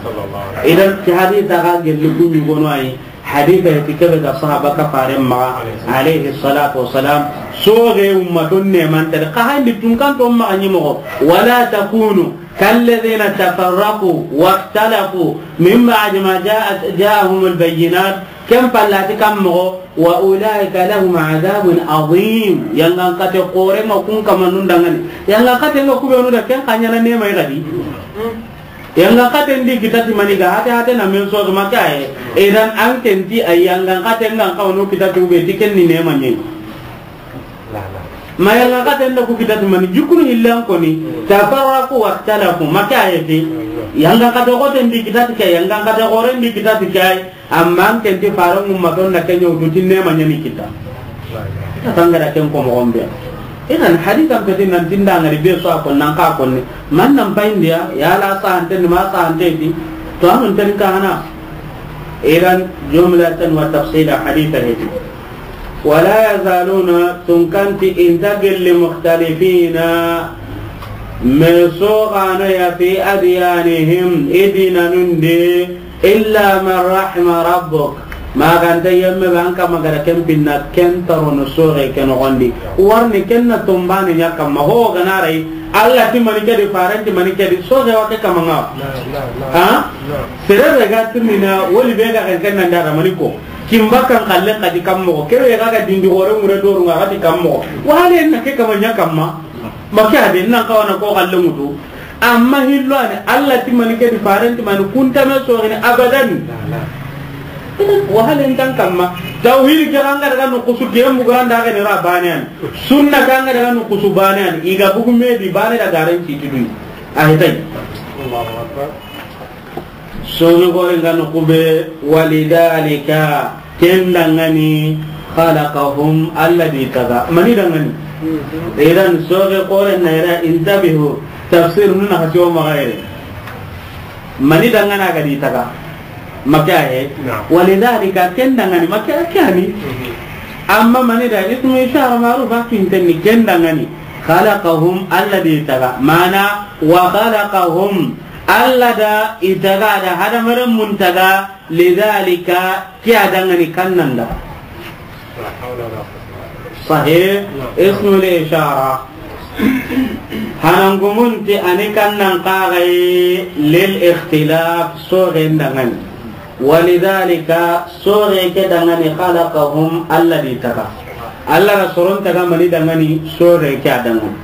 Idan ti hadisa ga gelli ku ɲi gono ayi. Hadisa ti ke be ga sahaba ka faren maxa, alayhi salatu wassalam. Soxe ummaton ne man tare. Xa handi tun kan to maxa ɲi moxo. ولا تكونوا كالذين تفرقوا واختلفوا من بعد ما جاءت، جاءهم البينات. Ken pallati kan moxo, وأولئك لهم عذاب عظيم. Yangan kate xore ma kun kama nun dangani. Yangan kate nga ku benu da ken xa ɲa na neema i ga di. Yangan kate ndi kitati mani ga hate hate na men so ma ka ye. Idan an ken ti ay yangan kate nga ka wono kitati ube ti ken ni neema ɲi. Ma yangan kate nda ku kitati mani jukunu hillan koni. تفرقوا واختلفوا ma ka ye ti. Yangan kate xote ndi kitati ke, yangan kate xore ndi kitati ke. Amma an ken ti faren ummaton na ken ɲa wutu ti neema ɲa ni kita. Tangara ken ko moxon be. Idan hadisan peti nan tinda ngari be so a ko nan ka ko ni. Man nan payindiya, yala sahante ni ma sahante ti. To an tan ka hana. Idan jumlatan wa tafsila hadisa heti. ولا يزالون, tun kan ti i nta gelli, مختلفين, me soxana ya, في أديانهم, i dinanun di, إلا من رحم ربك. Ma ga nta yemme be an kama ga da ken pinna, ken ta ro no soxe ke noxon di. Warni ken na tombane ɲa kamma, ho ga na ray, Alla ti mani ke di, faren ti mani ke di, soxe wa ke kama ŋa. Ha? Sere be ga tinina, woli be ga ken ken nan da mani ko. Kin bakkan xalle xadi kan moxo. Kebe ga ga dindi xore ŋure doru ŋa xadi kan moxo. Wale na ke kama ɲa kamma. Ma ke a be nan kawana ko xalle ŋutu. Amma hillo ani, Alla ti mani ke di, faren ti mani, kun ta me soxini abadan. Wahalen tan kamma. Tawhid ke an ga daga nukusu ke muganda ga ni ra baane ya ni. Sunna ke an ga daga nukusu baane ya ni. I ga bugu me di baane da garen ci tudu. A hetay. Soxi xoren ga nuku be, walidhalika, ken dangani, khalaqahum, Alla di taga. Mani dangani? Idan soxi xoren na ira, intabihu, tafsir nuna hasi o maxa yere. Mani dangana ga di taga? Maka he. Naam. Walidhalika, ken dangani, maka ke ani. Amma mani da ismu ishara maruf a kintenni, ken dangani. Khalaqahum, Alla di taga. Mana, wa khalaqahum, Alla da i taga, da hadamaren mun taga, lidhalika, ke a dangani kannan da. Sahih, ismul ishara. Hanangumun ti ani kannan kaxay lil ikhtilaf, soxen dangani. Walidhalika, soxe ke dangani, khalaqahum, Alla di taga. Alla da soron taga mani dangani, soxe ke a dangani.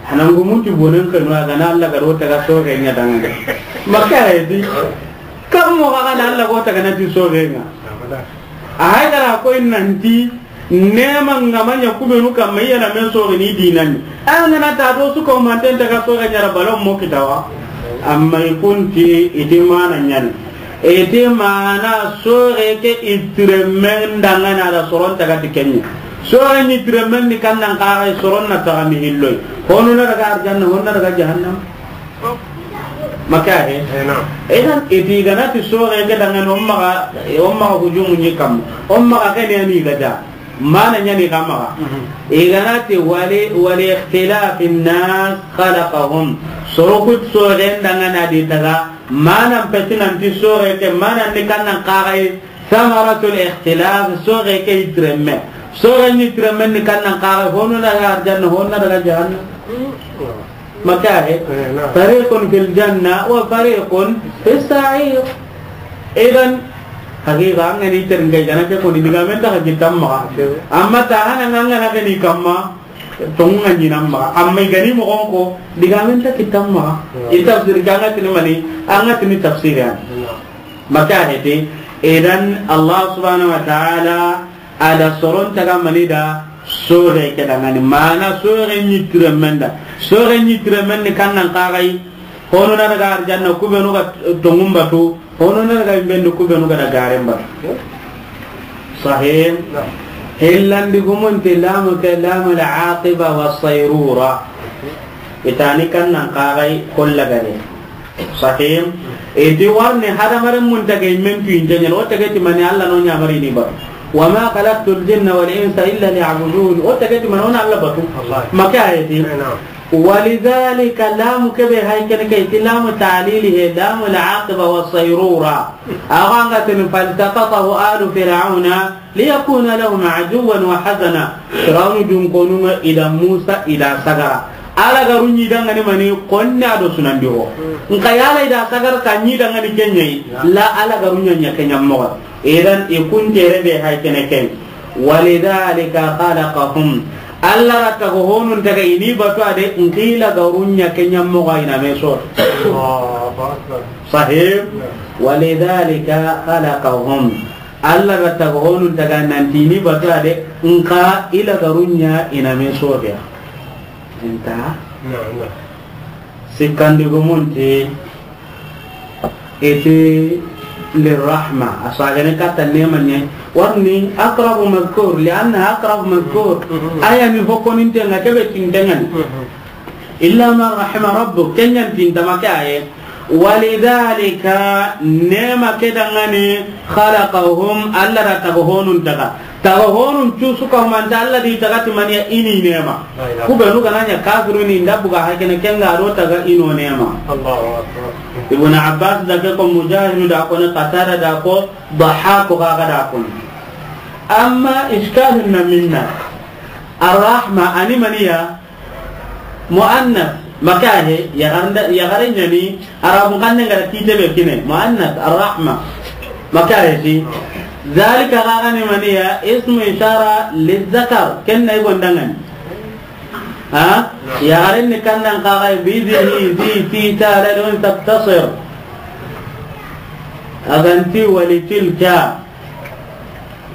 Hanangumun ti bonen kanu a ga na Alla ga ro taga soxe ɲa dangani. Maka he di. Kam mo ga na Alla go taga na ti soxe ɲa. A hay gara ko in nanti nema ngama ɲa kubenu kamma i ya na me soxi ni dinani. An ga na ta do su ko manten taga soxe ɲa ra balon mo kitawa. Amma i kunti i di mana ɲani. Iti mana soxe ke i tiremen dangana da soron taga ti kenya. Soxe ni tiremen ni kannan kaxay soron na taga mi hilloy. Honu na daga arjanna, honu na daga jahannam. Maka he? Eh, naam. Idan iti ga na ti soxe ke dangani, o maxa, o maxa hujumu ni kam. O maxa ke ne ni ga da. Mana ɲani xa maxa. I ga na ti wali, wali ikhtilafin nas khalaqahum. Soro ku soxen dangana di taga. Mana peti nanti soxe ke, mana ni kannan kaxay, samaratul ikhtilaf, soxe ke i tiremme. Soxe ni tiremme ni kannan kaxay, honu na daga arjanna, honu na daga jahannam. Maka he? Eh, naam. Fariqun fil janna wa fariqun fis sa'ir. Idan, haqiqa, an ga ni teringa i ga na ke ko ni digamen ta haji tamma. Amma ta hana an ga na ke ni kamma. Tonga ɲinan maxa, amma i ga ni moxon ko, digamen ta kitan maxa. I tafsir ke, an ga tini mani, an ga tini tafsir ya. Maka hete, idan Allah subhanahu wa ta'ala a da soron taga mani da, soxe ke dangani. Mana soxe ni tiremen da. Soxe ni tiremen ni kannan kaxay, Hono na daga arjanna, kubenu ga tongun batu, hono na daga imbendu, kubenu ga da garen batu. Sahih. Naam. Hillandi gumunti lamu ke, lamul aqiba wa sayrura. Itani kannan kaxay kolla gare. Sahih. Iti warni hadamaren mun tage immen tu intenya, o tage ti mani Allah no ɲamari ni batu. Wa ma khalaqtul jinna wal insa illa liya'budun. O tage ti mani o na Allah batu. Wallahi. Maka ayati. Eh, naam. Walidhalika, lamu kebe hay kene ke, ti lamu ta'lili he, lamu al-aqiba wa sayrura. Awa nga tini, faltaqatahu alu fir'auna liyakuna lahum aduwwan wa hazana. Fir'aunu dun konu nga i da Musa i da sagara. Ala garu ɲi dangani mani konna do sunandi ho. Nka yala i da sagara ta ɲi dangani kenyai. La ala garu ɲa ɲa kenya moxo. Idan i kuntere be hay kene ken. Walidhalika khalaqahum. Allah ra taga honun taga ini batu ade, nqila garunya kenya moga ina meso. Allahu Akbar. Sahih. Walidhalika khalaqahum. Allah ra taga honun taga nanti ini batu ade, nqa ila garunya ina meso dia. Inta. Naam, naam. Sikkandi gumunti iti lirrahma, a sagene katta nema ɲe. Warni aqrabu madhkur, lianna aqrabu madhkur. Mhm. Aya ni hokoninte nga kebe tintengani. Mhm. Illa man rahima rabbuk, kenyan tintamake aye. Walidhalika, nema kedangani, khalaqahum, Allah da taga honun taga. Taga honun cusu ka humanta Allah di taga ti maniya ini nema. La ilaha. Kubenu gananya kafiruni nda buga hakene kenga do taga ino nema. Allahu Akbar. Ibn Abbas da ke ko, Mujahid da ko, ne Qatada da ko, Dhahhak ga ga da ko. Amma ishkalun na minna. Ar-rahma ani maniya? Muannas, maka he, yagarnda, yagare ɲani, Arabun xannen ga da kite be kine, muannas, arrahma, maka he ti. Zalika gagani maniya, ismu ishara lizzakar, ken na i gondangani. Ha? Yagaren ni kannan kaga, bi zi, hi, zi, ti, ta, la, lun, taktasir. Aganti wali tilka.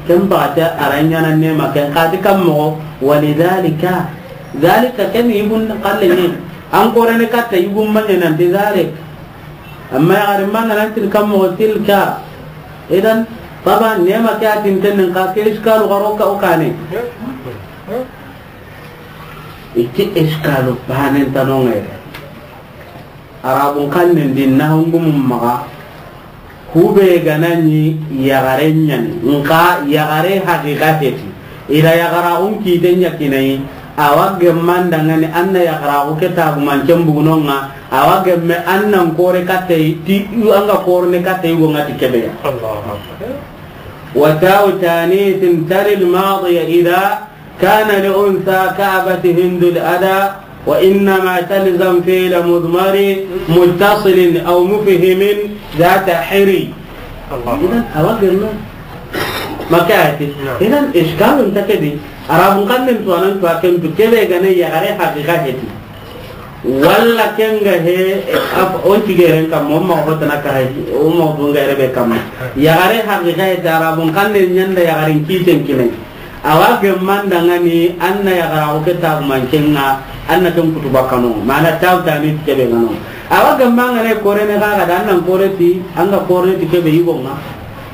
Ken baxate a ra ɲaana neema ken xa ti kan moxo, walidhalika. Dhalika ken yigun xalle ɲi. An korene katta yigun ma ɲa nanti dhalik. Amma yaxarin ma ŋa nanti kan moxo tilka. Idan, taban neema ke a tinten nin xa ke iskalu xaro ka o kane. I ti iskalu banen tano ŋere. Arabun xannen di nahungumun maxa, hube ga na ɲi yaxare ɲani, nxa yaxare haqiqa heti. I da yaxaraxun kiten ɲa kinayi, a wa gemma n da ŋa ni an na yaxaraxu ke tagumancen bugunonŋa, a wa gemme an nan kore kattayi, ti an ga korene kattayi go ŋa ti kebe ya. Allahu Akbar. وتاء تانيث تلي الماضي إذا كان لأنثى كأبت هند الأذى وإنما تلزم فعل مضمر متصل أو مفهم ذات حري. Allahu Akbar. Idan, a wa gemma. Maka ati. Naam. Idan, iskalun ta ke di. Arabun xannen tu anan tu a ken tu kebe ga ne yaxare haqiqa heti. Walla ken ga he, af-, on tigeren kamma, o ma hotana ka hay, o ma dunga rebe kamma. Yaxare haqiqa heti Arabun xannen ɲa n da yaxarin kiten kine. A wa gemma n da ŋa ni an na yaxaraxu ke tagumancen ŋa, an na ken kutu bakkano, mana taw tani ti kebe ŋa no. A wa gemma ŋa ne korene xa ga da an nan kore ti, an ga korene ti kebe yigo ŋa.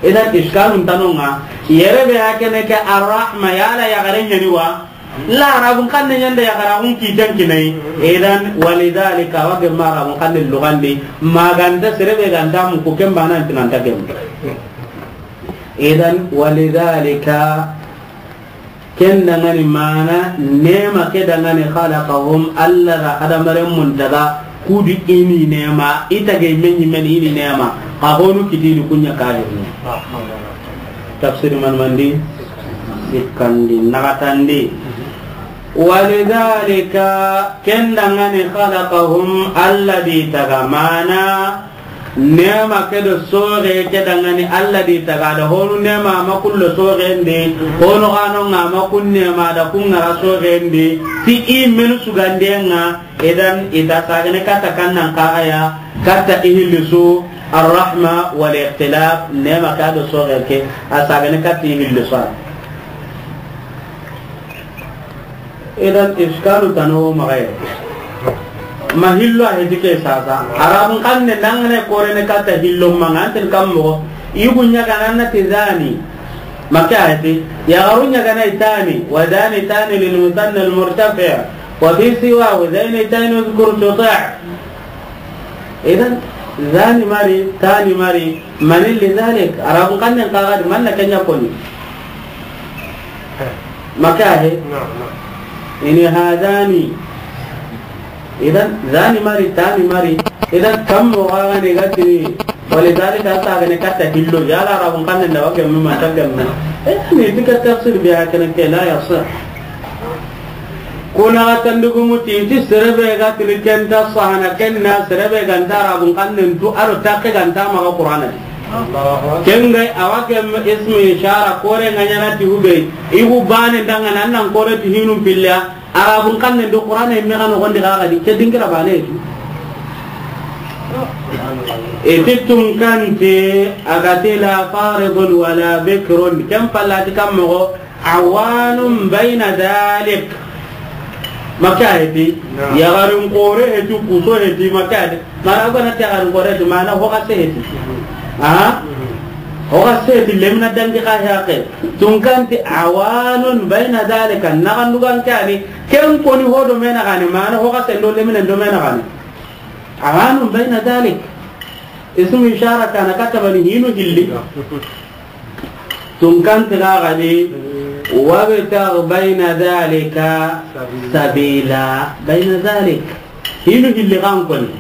Idan iskalun tano ŋa, yere be a kene ke Arrahma, yala yaxare ɲani wa? La, Arabun xannen ɲa n da yaxaraxun kiten kinayi. Idan, walidhalika, a wa gemma Arabun xannen luxan di, maganta sere be ganta muku ken banan tinanta gemma. Idan, walidhalika, ken da ŋa ni mana, neema ke da ŋa ni khalaqahum, Alla da hadamarenmun taga, ku di i ni neema, i tage me ɲi me ni i ni neema, xa honu kiti i di ku ɲa kahirni. Tafsir man mandi, sikkandi, naxatandi. Walidhalika, ken da ŋa ni khalaqahum, Alla di taga mana, neema ke do soxe ke da ŋa ni Alla di taga da honu neema ma kullo soxendi, honu xano ŋa ma kun neema da kun ŋara soxendi, ti i menu sugandiyen ŋa, idan i ta sagane katta kannan kaxaya, katta ihillisu, Arrahma wal ikhtilaf, neema ke do soxe ke, a sagane katta ihillisu. Idan iskalu tano maxa ye. Ma hillo a heti ke sasa. Arabun xannen da ŋa ne korene katta hillo ma ŋa anten kam moxo. Yigu ɲa ga na na ti zani. Maka heti. Yaxaru ɲa ga na i tani. Wa zani tani lil musanna al murtafi'. Wa fi siwa wa zani tani uzkur tuti'. Idan, zani mari, tani mari, mani li dhalik, Arabun xannen xa ga di, man na ken ɲa koni. Maka he? Naam, naam. Ini hadani. Idan, zani mari, tani mari. Idan, kam moxo ga ni ga tini, walidhalika, a sagane katta hillo, yala Arabun xannen da wa gemma, ma ta gemma. Eh, ni ti ka tafsir bi hakana ke la yasih. Kuna ga tandugumu ti, ti sere be ga tini ken ta sahana, ken na sere be ga nta Arabun xannen tu, a do takke ga nta maxa Qur'ana di. Ken ga a wa gemme ismu ishara, kore ŋa ɲaana ti hube, i hu bane da ŋa na nan kore ti hinun pilla, Arabun xannen do Qur'ana yimme xa noxon di xa ga di, ke dingira bane tu. E ti tunkanti, a ga ti la faridun wala bikrun, ken pallati kam moxo, Awanun bayna dhalik. Maka heti, naam. Yaxarin kore heti, kuso heti, maka heti. Mana gana ti yaxarin kore heti, mana hoga se heti. Ah? Hoga se heti, lemina dangi xa haqe. Tunkanti awanun bayna dhalika, naxandugan kani, ken koni hodo mena gani, mana hoga se ndo lemina ndo mena gani. Awanun bayna dhalik. Ismu ishara kana katabani hinu hilli. Tunkanti xa ga ni, wabtagh bayna dhalika sabila, bayna dhalik. Hinu hilli xa n koni.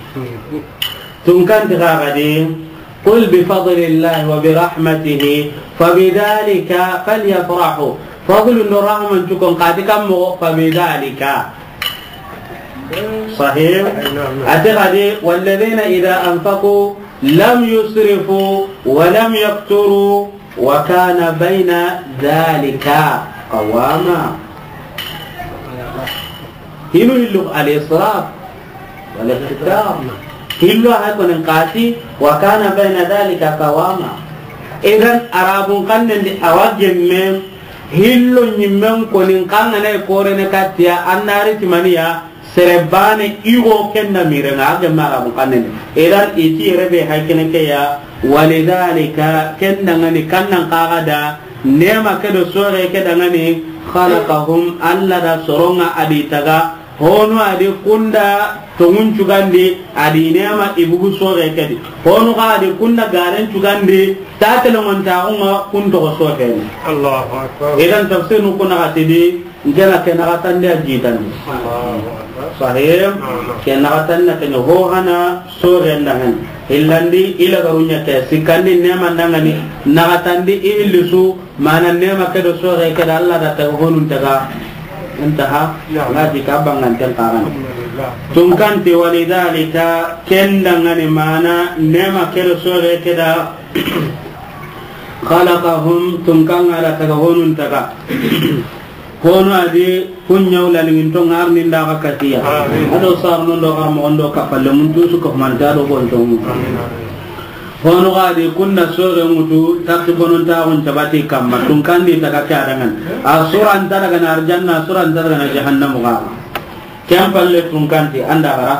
Tunkanti xa ga ni, qul bi fadlillahi wa bi rahmatihi, fa bidhalika falyafrahu. Fadlu ndo rahman cukon xa ti kam moxo, fa bidhalika. Sahih? Naam, naam. A ti xa di, walladhina idha anfaqu lam yusrifu wa lam yaqturu wa kana bayna dhalika qawama. Hinu hillu al-israf wal iqtitar. Hillu ha konen xa ti wa kana bayna dhalika qawama. Idan Arabun xannen di a wa gemme hillo ɲimmen konin xangana e korene kattiya annari timaniya. Sere bane igo kenda mirenga a gemme Arabun xannen di. Idan i ti yere be haykene ke ya. Walidhalika, ken dangani kannan kaga da nema ke do sore ke dangani. Khalaqahum, Allah da soronga a di taga. Honu a di kunda tongun cugandi, a di nema i bugu sore ke di. Honu ga a di kunda garen cugandi, ta telongon taxunga kun toxo sore ni. Allahu Akbar. Idan tafsir nu kuna ga tidi, ngena ke naxatandi a jitandi. Allahu Akbar. Sahih. Naam. Ke naxatandi ke ɲa ho hana sore ndangani. Hillandi ila garunya ke sikandi nema ndangani. Naxatandi i hillisu. Mana nema ke do sore ke da Allah da taga honun taga. Intaha. Ya. Ngaji ka banganten karan. Alhamdulillah. Tunkanti walidhalika ken dangani mana nema ke do sore ke da. Khalaqahum tunkanga da taga honun taga. Hono a di kun ɲawla ni to ngar ni nda ga katiya. Amin. Ado sar non do gar mo ondo kapalle mun tu su ko manta do bon to. Amin, amin. Hono ga di kunna sore ŋutu, takki bonon taxun cabati kamma, tunkandi taga ke adangan. A suranta daga na arjanna, a suranta daga na jahannamu ga. Ken palle tunkanti, anda gara.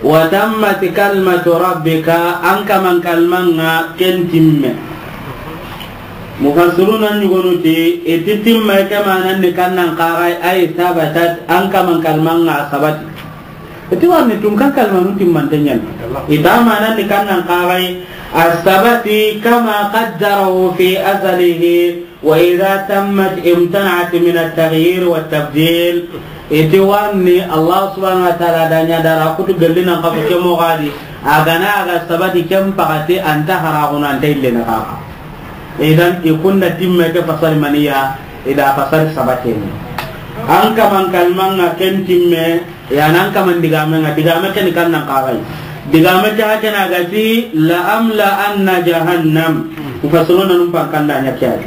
Wa tammat kalimatu rabbika, an kaman kalmanga ken timme. Mufassiruna ɲugonuti, iti timme ke manan ni kannan kagai, ay sabatat, an kaman kalmanga sabati. Iti warni tunkan kalmanu timmante ɲani. Ita manandi kannan kagai, as-sabati kama qaddarahu fi azalihi, wa idha tammat imtana'at min at-taghyir wa at-tabdil. Iti warni Allah subhanahu wa ta'ala da ɲa dara kutu gelli nan kafu ke mogadi. Agana aga sabati ken pakati anta haraguna anta ille na kaka. Idan ikunda timme ke fasari maniya, ida fasari sabateni. An kaman kalmanga ken timme, ya nan kaman digame nga, digame ken kannan kagai. Digame ke hakena gati, la amla anna jahannam. Mufassiruna num pankanda nya kiyai.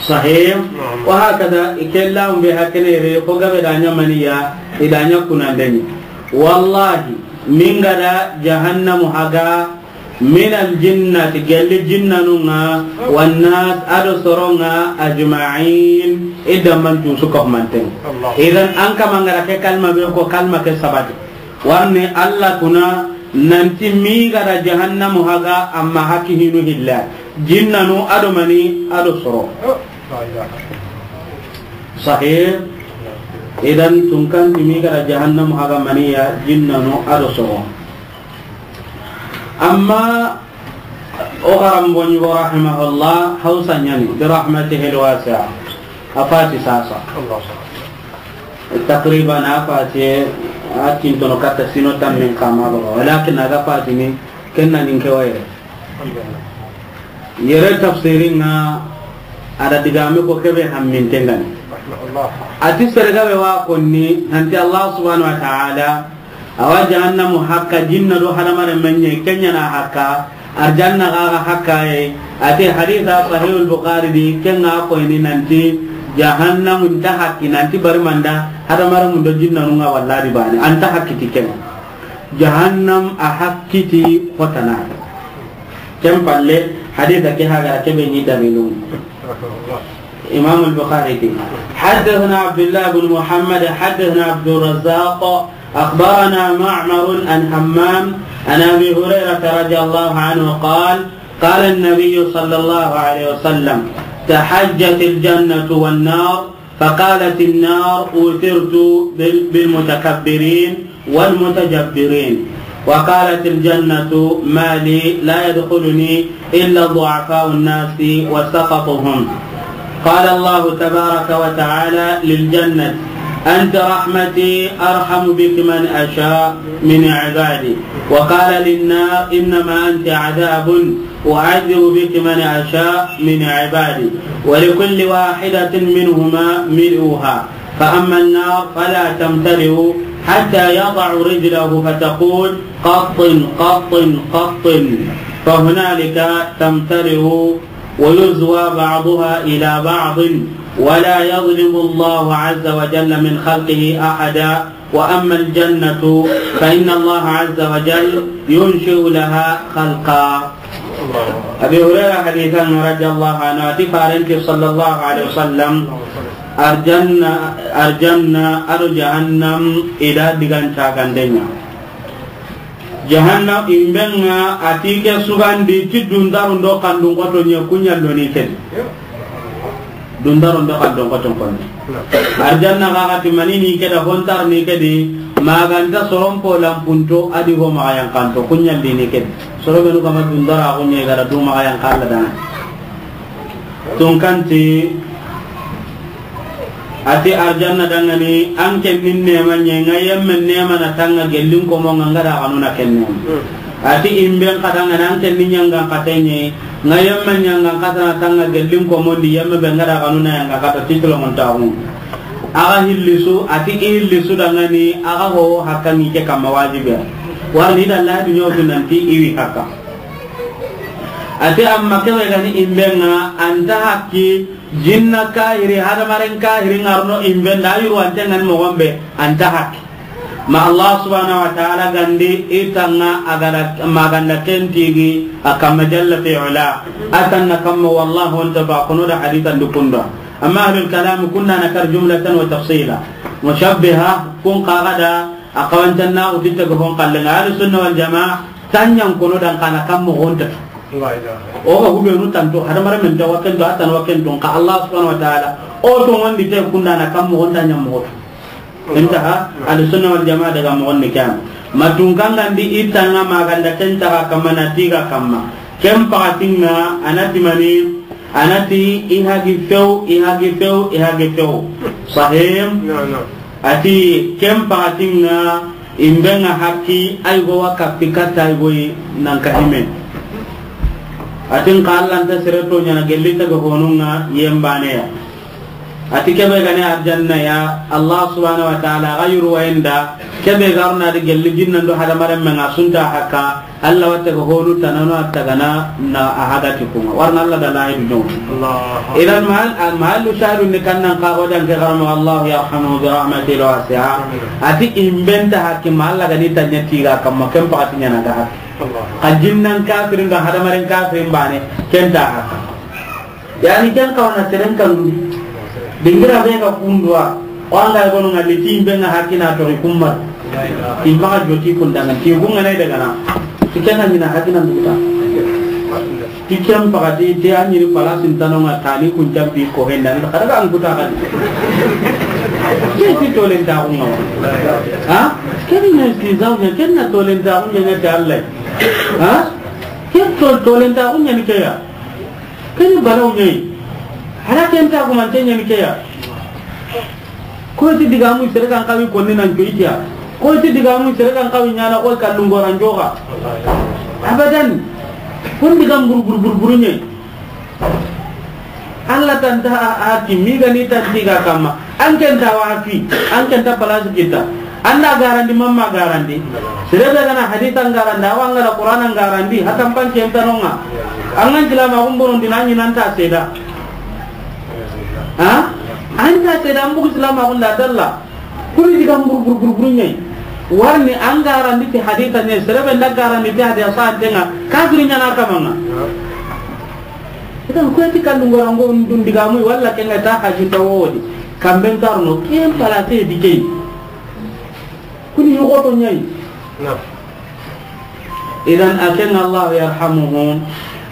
Sahih. Wa hakada, ikella umbe hakene re, ko gabe da nya maniya, ida nya kunandeni. Wallahi, mingada jahannamu haga, minal jinnati, gelli jinnanunga, wannas, ado soronga, ajma'in, idda man tu suka humanten. Allah. Idan an kama ngara ke kalma be ko kalma ke sabati. Warni Allah kuna nanti mi gara jahannamu haga amma haki hinu hilla. Jinnanu ado mani ado soro. Oh, la ilaha. Sahih. Idan tunkan mi gara jahannamu haga maniya jinnanu ado soro. Amma o garambo ɲugo rahimahullah, Hausa ɲani, bi rahmatihi alwasi'a. A fati sasa. Takriban a fati a tintono katta sino tammin kama baga. Walakin aga fati ni kenna nin ke wayre. Yere tafsirin nga ada digame ko kebe hammin tengani. Ati serga be wa konni nanti Allah subhanahu wa ta'ala Awa jahannamu hakka jinna do hadamaren men ɲi, ken ɲa na hakka, arjanna ga ga hakka ye. Ati hadisa Sahihul Bukhari di, ken ga koyni nanti jahannamu nta hakki, nanti bari manda hadamaren mun do jinnanu nga walla di bane, anta hakki ti ken. Jahannam a hakki ti hotana. Ken palle, hadisa ke haga ke be ni dalilu. Imam al-Bukhari ke. حدثنا عبد الله بن محمد، حدثنا عبد الرزاق، أخبرنا معمر عن همام عن أبي هريرة رضي الله عنه قال: قال النبي صلى الله عليه وسلم: تحاجت الجنة والنار، فقالت النار: أوثرت بال-، بالمتكبرين والمتجبرين. وقالت الجنة: ما لي لا يدخلني إلا ضعفاء الناس وسقطهم. قال الله تبارك وتعالى للجنة: أنت رحمتي أرحم بك من أشاء من عبادي. وقال للنار: إنما أنت عذاب أعذب بك من أشاء من عبادي، ولكل واحدة منهما ملؤها، فأما النار فلا تمتلئ حتى يضع رجله فتقول: قط، قط، قط، فهنالك تمتلئ ويزوى بعضها إلى بعض، ولا يظلم الله عز وجل من خلقه أحدا، وأما الجنة فإن الله عز وجل ينشئ لها خلقا. Abi Hurayra hadithan radiyallahu anhu, a ti farenti sallallahu alaihi wasallam, arjanna, arjanna, ado jahannam, i da digan cagandenya. Jahannam imbenga a ti ke sugandi ti dundarundo kandun koto ɲa kuɲa loni kedi. Dundarundo kandun koto konni. Arjanna ga ga ti mani ni keda hontar ni kedi maganta soron po lampunto adi ho maga yankanto kuɲa lini kedi. Soro benu kama dundara kuɲa gara du maga yankalla dana. Tunkanti, a ti arjanna dangani, an ken ni nema ɲe, nga yemme nema na tanga gellin komo nga nga da kanu na ken nema. A ti imben ka dangani, an ken ni ɲangan kate ɲe, nga yemme ɲangan kata na tanga gellin komo ndi yemme be nga da kanu na yanga kata titlo mon taxu. Aga hillisu, a ti i hillisu dangani, aga ho hakka ni ke kama wajibe. Warni da la dunyo nanti iwi hakka. A ti amma kebe gani imbenga anta hakki jinna kahiri hadamaren kahiri ngarno imben da yuru ante ngan mogombe anta hakki. Ma Allah subhanahu wa ta'ala gandi itanga agada maganda kentigi akamma jalla fi ula. Atanna kamma wallahu anta ba kono da hadithan dukunda. Amma ahlul kalam kunna nakar jumlatan wa tafsila. Mushabbiha kun qagada akawantanna utitta go hon kallenga. Ahlus sunna wal jamaa tanyan kono dan kana kam mo honta. O ga hubenu tanto hadamaren men ta waken do atan waken don ka Allah subhanahu wa ta'ala o to ngondi te kunda na kam mo honta nyam mo. Intaha. Ahlus sunna wal jamaa daga mo ngondi kan. Matun kangandi itanga maganda kenta ga kamma na tiga kamma. Kem pakatinga anati mani, anati i hagi few, i hagi few, i hagi few. Sahim. Ati ken pakatinga imbenga hakki ay go wa kappi katta ay go nan ka hime. Atin ka Allah nta sere to nyana gelli ta go honunga yembane ya. Ati kebe gane arjanna ya Allah subhanahu wa ta'ala ga yuru wayenda kebe garna de gelli jinnan do hadamaren men asunta hakka. Allah watte ko honu tanano attagana na a hagati kuma. Warna Allah da lahidu no. Idan mahal, al mahallu shahidun ni kannan ka wadan ke garamo Allah yarhamuhu bi rahmatil wasi'a. Ati imbenta hakki ma Allah gani tanya tiga kamma ken pakati nyana ga hakki. Ka jinnan kafirin ga hadamaren kafirin bane kenta hakka. Yani ken kawana seren kanu. Dingira be ga kundwa. O anga gono ngalli ti imbe nga hakina to kumma. Imma ga joti kundanga ti kunga nay daga na. Ti ken na mina hakina nduta. Ti ken pagati ti anyi ni palasin tanonga tani kun jambi ko henda. Kada ga anguta ga. Ke ti tolen ta kunga. Ha? Ken ne ti zawja ken na tolen ta kunga ne ta Allah. Ha? Ken tol-, tolen ta kunga ni ke ya. Keni baraw ɲayi. Hara ken ta gumante ɲani ke ya. Ko ti digamu sere kan kawi konni nan joytiya. Ko ti digamu sere kan kawi ɲana ko kallun goran joga. Abadan. Kun digam bur bur bur bur ɲayi. Allah tanta a, a ti mi gani tanti ga kamma. An ken ta wa fi, an ken ta place kita. Anda garandi mamma garandi. Sere be gana hadithan garandi, awa ngara Qur'anan garandi, hatan pan ken tanonga. An ngan jila ma gumbono dinani nan ta seda. Ha? An ta seda an bugu jila ma gunda dalla. Kuli diga bur bur bur bur ɲayi. Warni an garandi ti haditha ne, sere be nda garandi ti haditha sa antenga. Kafiri ɲana kamanga. Idan ko ti kallu ngora ngo ndun digamu walla kenga ta haji tawodi. Kamben tarno ken pala te dikey. Kuni yogoto ɲayi. Idan aken Allah yarhamuhum.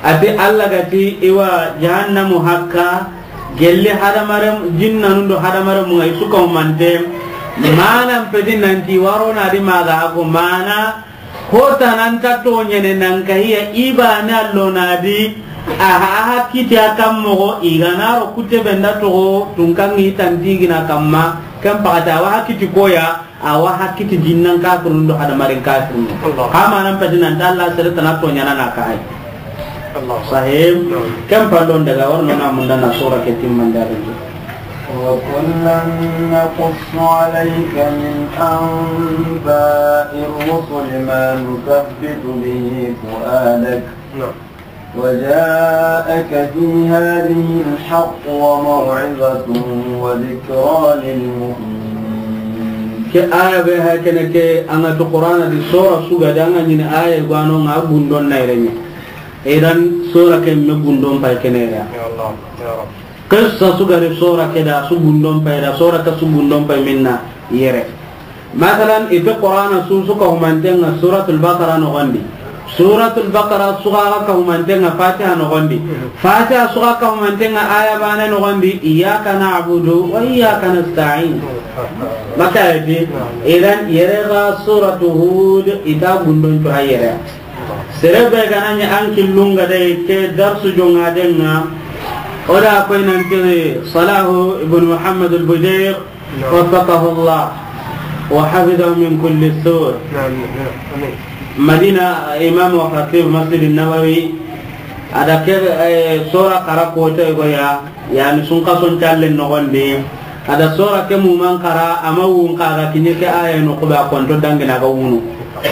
Ati Allah gati iwa jahannamu hakka gelli hadamare jinnanu do hadamare mu ay suka mante. Mana pedi nanti waro na di maga ko mana Hota nan ta toɲene nan kahiya ibane allo na di. Aha, aha kiti a kan mogo igana ro kute benda togo tunkangi tantigina kamma. Ken pakata awa ha kiti koya, awa ha kiti jinnan kafirun do hadamaren kafirun. Hamanan peti nan ta Allah sere tana toɲana na kahay. Sahib. Ken pandon daga warno na munda na sura ke timmanda. وكلا نقص عليك من أنباء الرسل ما نثبت به فؤادك وجاءك في هذه الحق وموعظة وذكرى للمؤمنين. Ke aya be ha kene ke anga to Qur'ana di sura suga danga ni aya gwano nga gundon na irenya. Idan sura ke me gundon pay kene ya. Ya Allah, ya Rabb. Qissa su gari sura ke da su gundon pay da, sura ta su gundon pay minna yere. Masalan, ite Qur'ana su su ka humantenga Suratul Baqara nogondi. Suratul Baqara su ga ka humantenga Fatiha nogondi. Fatiha su ga ka humantenga aya bane nogondi, "Iyyaka na'budu wa iyyaka nasta'in." Maka ayati, idan yere ga Suratu Hud ita gundon to ayere. Sere be ga na ɲi an killunga de ke darsu jonga denga. O da koy nanti Salahu ibn Muhammad al-Bujair, نعم. وفقه الله وحفظه من كل سوء. نعم، نعم. آمين. Madina, imam wa khatib Masjid Nabawi, a da ke, eh, sura kara kote go ya, yani sun kason talle nogondi, a da sura ke muman kara, ama wun kaga kinye ke aya no kuba konto dangina ga wunu.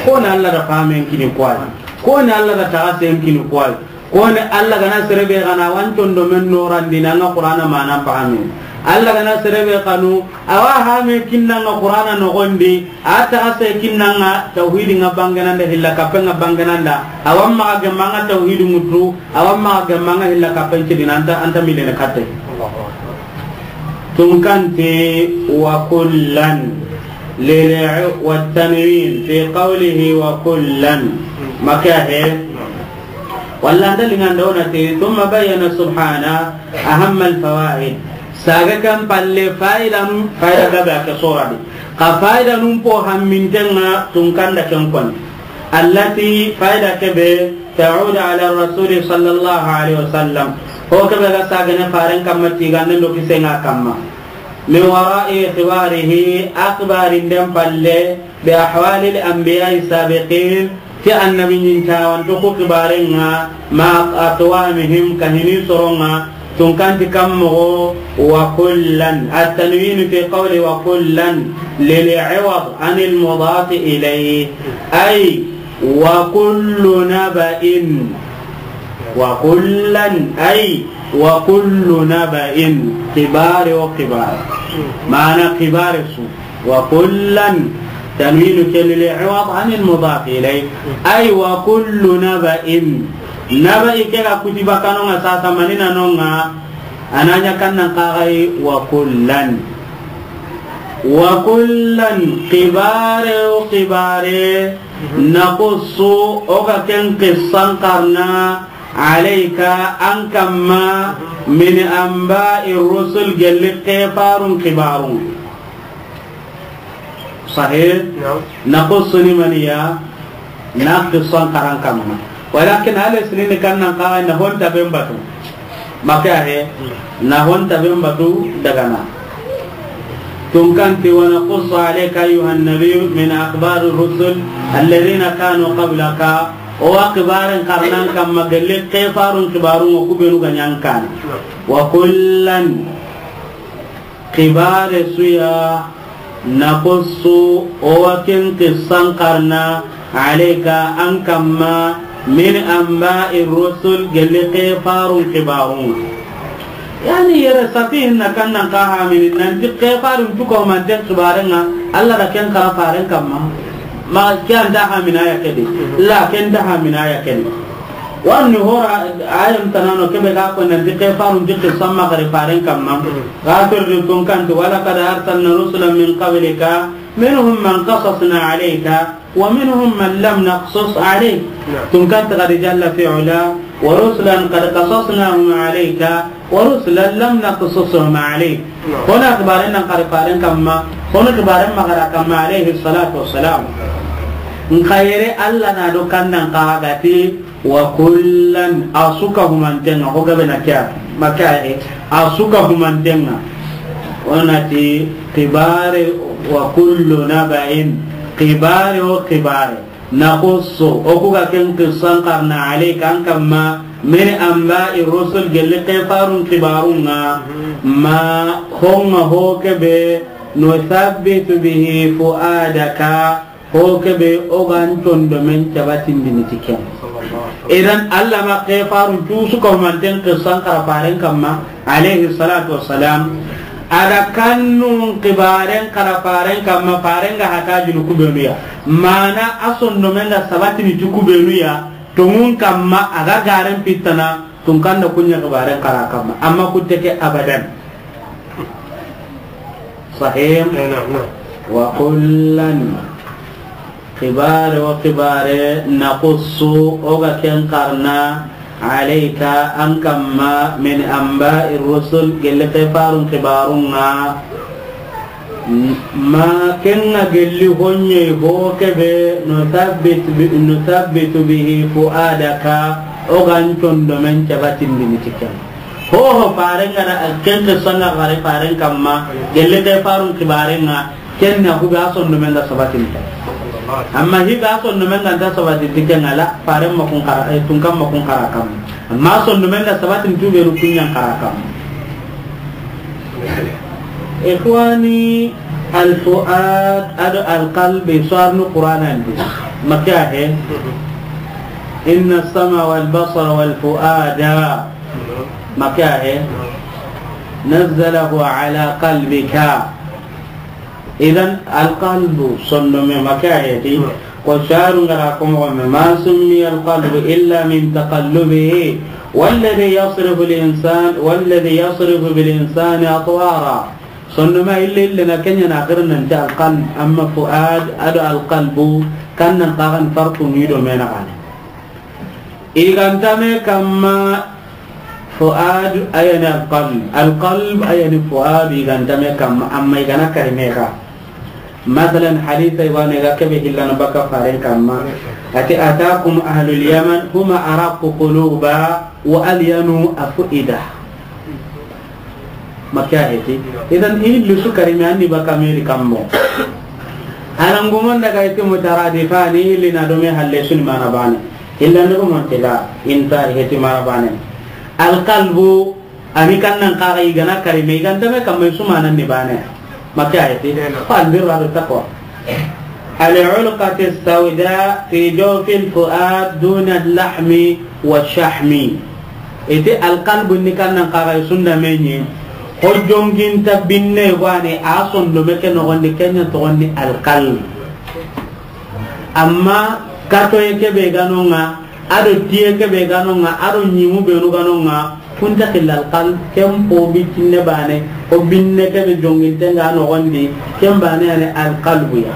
Ko na Allah da famen kini kwai. Ko na Allah da tagasen kini kwai. Koni Allah gana sere be gana wancondo men norandi nanga Qur'ana mana fahami. Allah gana sere be kanu, awa hame kinnanga Qur'ana nogondi, a taga se kinnanga tawhidi nga bangenanda hilla kapenga bangenanda, awa maga gemanga tawhidi mutu, awa maga gemanga hilla kapen cidina anta, anta milene katte. Tunkanti wa kullan lil wa tanwin fi qawlihi wa kullan. Maka he. Walla anda linganda wona te, thumma bayyana subhana ahamma al fawaid. Saga kan palle faidanu, faida gabe ake sora di. Ka faidanun po hammintenga tunkanda ken kon. Allati faida kebe ta'ud ala rasuli sallallahu alaihi wasallam. Ho kebe ga sagane faren kamma tigande ndo kisenga kamma. Min wara'i ikhbarihi, akhbarinden palle, bi ahwalil anbiya'i sabiqin, ti annabi ɲintawanto ku kibarenga, ma aqwamihim, kahini soronga, tunkanti kammogo, wa kullan. At-tanwinu fi qawli wa kullan lil iwad anil mudaf ilayhi. Ay, wa kullu naba'in. Wa kullan, ay, wa kullu naba'in. Kibare o kibare. Mana kibare su. Wa kullan, tanwinu ke lil iwad anil mudaf ilayh. Ay wa kullu naba'in. Naba'i ke ga kutiba kanonga sasa manina nonga. Ananya kannan kagai wa kullan. Wa kullan, kibare o kibare, naqussu, o ga ken qissan karna, alayka, an kamma, min anba'i rusul, gelli kefarun kibarun. Sahih? Naam. Naqussu ni maniya, na qissan karan kamma. Walakin ale sinin kannan kagai na honta ben batu. Maka he, na honta ben batu dagana. Tunkanti wa naqussu alayka ayyuhan nabiyyu min akhbari rusul alladhina kanu qablaka. O wa kibaren karnan kamma gelli kefarun kibarun o kubenu ganyan kan. Wa kullan. Kibare suya, naqussu, o wa ken qissan karna, alayka, an kamma, min anba'i rusul, gelli kefarun kibarun. Yani yere safihin na kannan kahamini, nanti kefarun cuko manten kibarenga, Allah da ken kara faren kamma. Ma ken da hamina ya kedi. La ken da hamina ya kedi. Warni hora ayan tanano kebe ga ko nanti kefarun jikki samma kare faren kamma. Ga tordi tunkanti, wa laqad arsalna rusulan min qablika minhum man qasasna alayka wa minhum man lam naqsus alayk. Naam. Tunkanti qad jalla fi ula, wa rusulan qad qasasnahum alayka wa rusulan lam naqsushum alayk. Naam. Hona kibaren nan kare faren kamma, hona kibaren magara kamma alayhi salatu wassalam. Nka yere Allah na do kannan kagati, wa kullan, a su ka humantenga, ho gabe na kya, maka e, a su ka humantenga. Onati kibare wa kullu naba'in, kibare o kibare. Naqussu, o ku ga ken qissan karna alayka an kamma, min anba'i rusul gelli kefarun kibarunga, ma honga ho kebe, nuthabbitu bihi fu'adaka, ho kebe o gan tondo men cabatindini ti ken. Idan Allah ma kefarun cusu ko manten qissan kara faren kamma, alayhi salatu wassalam, ada kannun kibaren kara faren kamma, faren ga hata jinu kubenu ya. Mana a sondomen ga sabatini ti kubenu ya, Tonŋun kamma, a ga garen pittana, tunkan da kuɲa xibaren xara kamma. Amma kutte ke abadan. Sahih? Eh, naam, naam. Wa kullan, xibare wo xibare, naqussu, o ga ken xarana, alayka, an kamma, min anba'i rusul, gelle ke farun xibarun ŋa. Ma ken ŋa gelli honye ho kebe, nuthabbit bi-, nuthabbitu bihi fu'adaka, o ga n sondomen cabatindini ti ken. Ho ho faren ga na ken ke sanga gare faren kamma, gelle ke farun xibaren ŋa, ken na hube a sondomen ga sabatini. Amma hibe a sondomen ga nta sabatini ti ken ŋa la, faren ma kun xara, eh, tunkan ma kun xara kamma. Amma sondomen ga sabatini tubenu kuɲan xara kamma. Ikhwani, al-fu'ad ado al-qalb, i suwarnu Qur'anan di. Maka he? Inna as-sam'a wal basara wal fu'ada. Maka he? Nazzalahu ala qalbika. Idan, al-qalbu, sondome, maka he ti. Ko sharu ngara ko mo me, ma summiya al-qalbu illa min taqallubihi, walladhi yasrifu al-insan, walladhi yasrifu bil insani atwara. Sondome ille ille na kenya na akhir nan ta al-qalb, amma fu'ad ado al-qalbu, kan nan kagan farqu ni do mena kane. I ga nta me kamma fu'ad, a ya ni al-qalb. Al-qalb, a ya ni fu'ad, i ga nta me kamma, amma i ga na kari me ga. Masalan, hadisa i wa ne ga kebe hillana baka faren kamma. Ati, atakum ahlul Yaman, huma araqqu quluba wa alyanu af'ida. Maka he ti. Idan, i hilli su kari me anni baka meri kammo. Anan gumon daga iti mutaradifani, i hilli na do me halle su ni mana bane. Illa ni gumon tila, inta he ti mana bane. Al-qalbu, ani kan nan kaga i ga na kari me, i ga nta me kamma i su mana ni bane. Maka he ti. Ko al-birra wa taqwa. Al-'ulqatu as-sawda fi jawfi al-fu'ad duna al-lahmi wa shahmi. Iti al-qalbu ni kan nan kaga i sunda me ni. Ho jonginta binne gane a sondome ke nogondi, kenya togondi al-qalb. Amma katoye kebe ga no ŋa, ado tiye kebe ga no ŋa, ado ɲimu benu ga no ŋa, kunta xilla al-qalb, ken po bi kinne bane, o binne kebe jonginte nga nogondi, ken bane yani al-qalbu ya.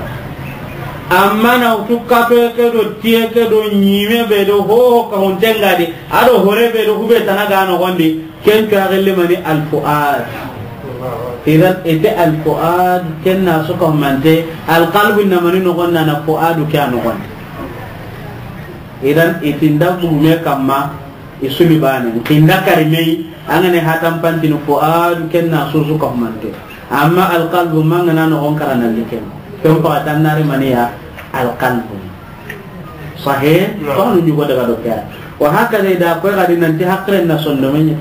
Amma na utu katoye ke do tiye ke do ɲime be do ho ka hunte nga di, ado hore be do hube tana ga nogondi, ken cuwa gilli mani al-fu'ad. Idan ite al-fu'ad ken na su ka humante, al-qalbu na mani nogon na, na fu'adu ke a nogon. Idan itinda gume kamma, i su ni bane. Kinda kari me yi, an ga ne hatan pantini fu'adu ken na su su ka humante. Amma al-qalbu manga na nogon kara na liken. Ken pa tan nari mani ya al-qalbu. Sahih? Naam. Ko no ɲugo daga do ke ya. Wa hakaza i da ko ga di nanti haqilen na sondomen ɲa.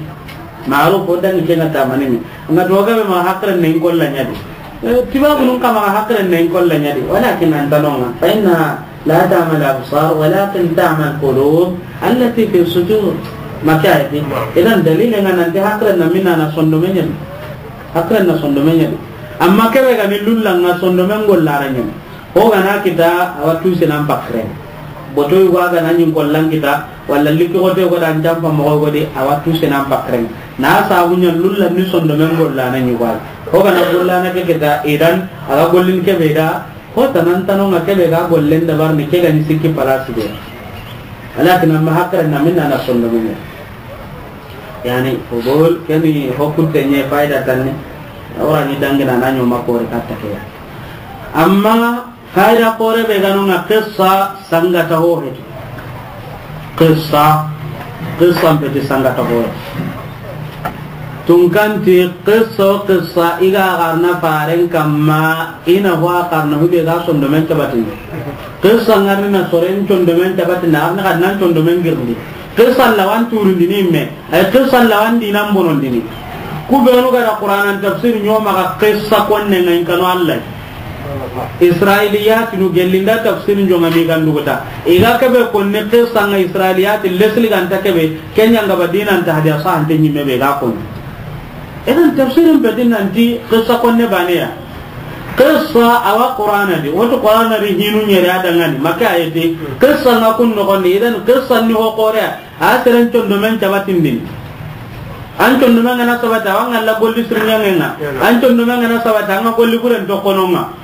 Ma'ruf o dangi ke nga tamani mi. Nga to ga be ma haqilen ne in kolla ɲa di. Eh, tiba bunun kama haqilen ne in kolla ɲa di. Walakin an tanonga. Fa inna la ta'mal absar, walakin ta'mal qulub allati fi sudur. Maka ya di. Naam. Idan dalile nga nanti haqilen na minna na sondomen ɲa di. Haqilen na sondomen ɲa di. Amma kebe ga ni lulla nga sondomen golla ra ɲa. Ho ga na kita, a wa tu senan pakren. Boto yugo a ga na ɲin kollan kita, walla likki xote go dan jampa moxo go di, a wa tu senan pakren. Na sabu ɲa lulla ni sondomen golla na ɲi go. Ho ga na golla na ke kita, idan a ga gollin kebe da, ho tanan tano nga kebe ga gollen da bar ni ke ga ni sikki palasi de. Walakin amma haqilen na minna na sondomen ɲa. Yani, fudul, keni ho kutte ɲe fayda tanni, a wa ra ni dangina na ɲoma kori katta ke ya. Amma, fayda kore be ga no nga qissa sangata ho heti. Qissa, qissa mpeti sangata ho heti. Tunkanti qissa, qissa i ga xarana faren kamma, i na ho a xarana hube ga sondomen tabatini. Qissa ngarni na soren sondomen tabatini, a xarana xa nan sondomen girndi. Qissa lawan turundini me. Ay qissa lawan dinan bonondini. Ku benu ga da Qur'anan tafsir ɲoma ga qissa konne nga in kanu Allah. Israiliyat nu gellinda tafsir jonga mi ganduguta. I ga kebe konne qissa nga Israiliyat lesli ganta kebe, kenya nga ba dinan ta hadiya sahante ɲime be ga konne. Idan tafsirin be dinan ti qissa konne bane ya. Qissa a wa Qur'ana di, woti Qur'ana di hinu ɲeri a dangani, Makka ayeti. Qissa nga kun noxondi, idan qissa ni ho xoore, a seren condomen cabatindini. An condomen ga na sabata, a wa ŋalla golli sirɲangenga. An condomen ga na sabata, a ŋa golli buren toxononga.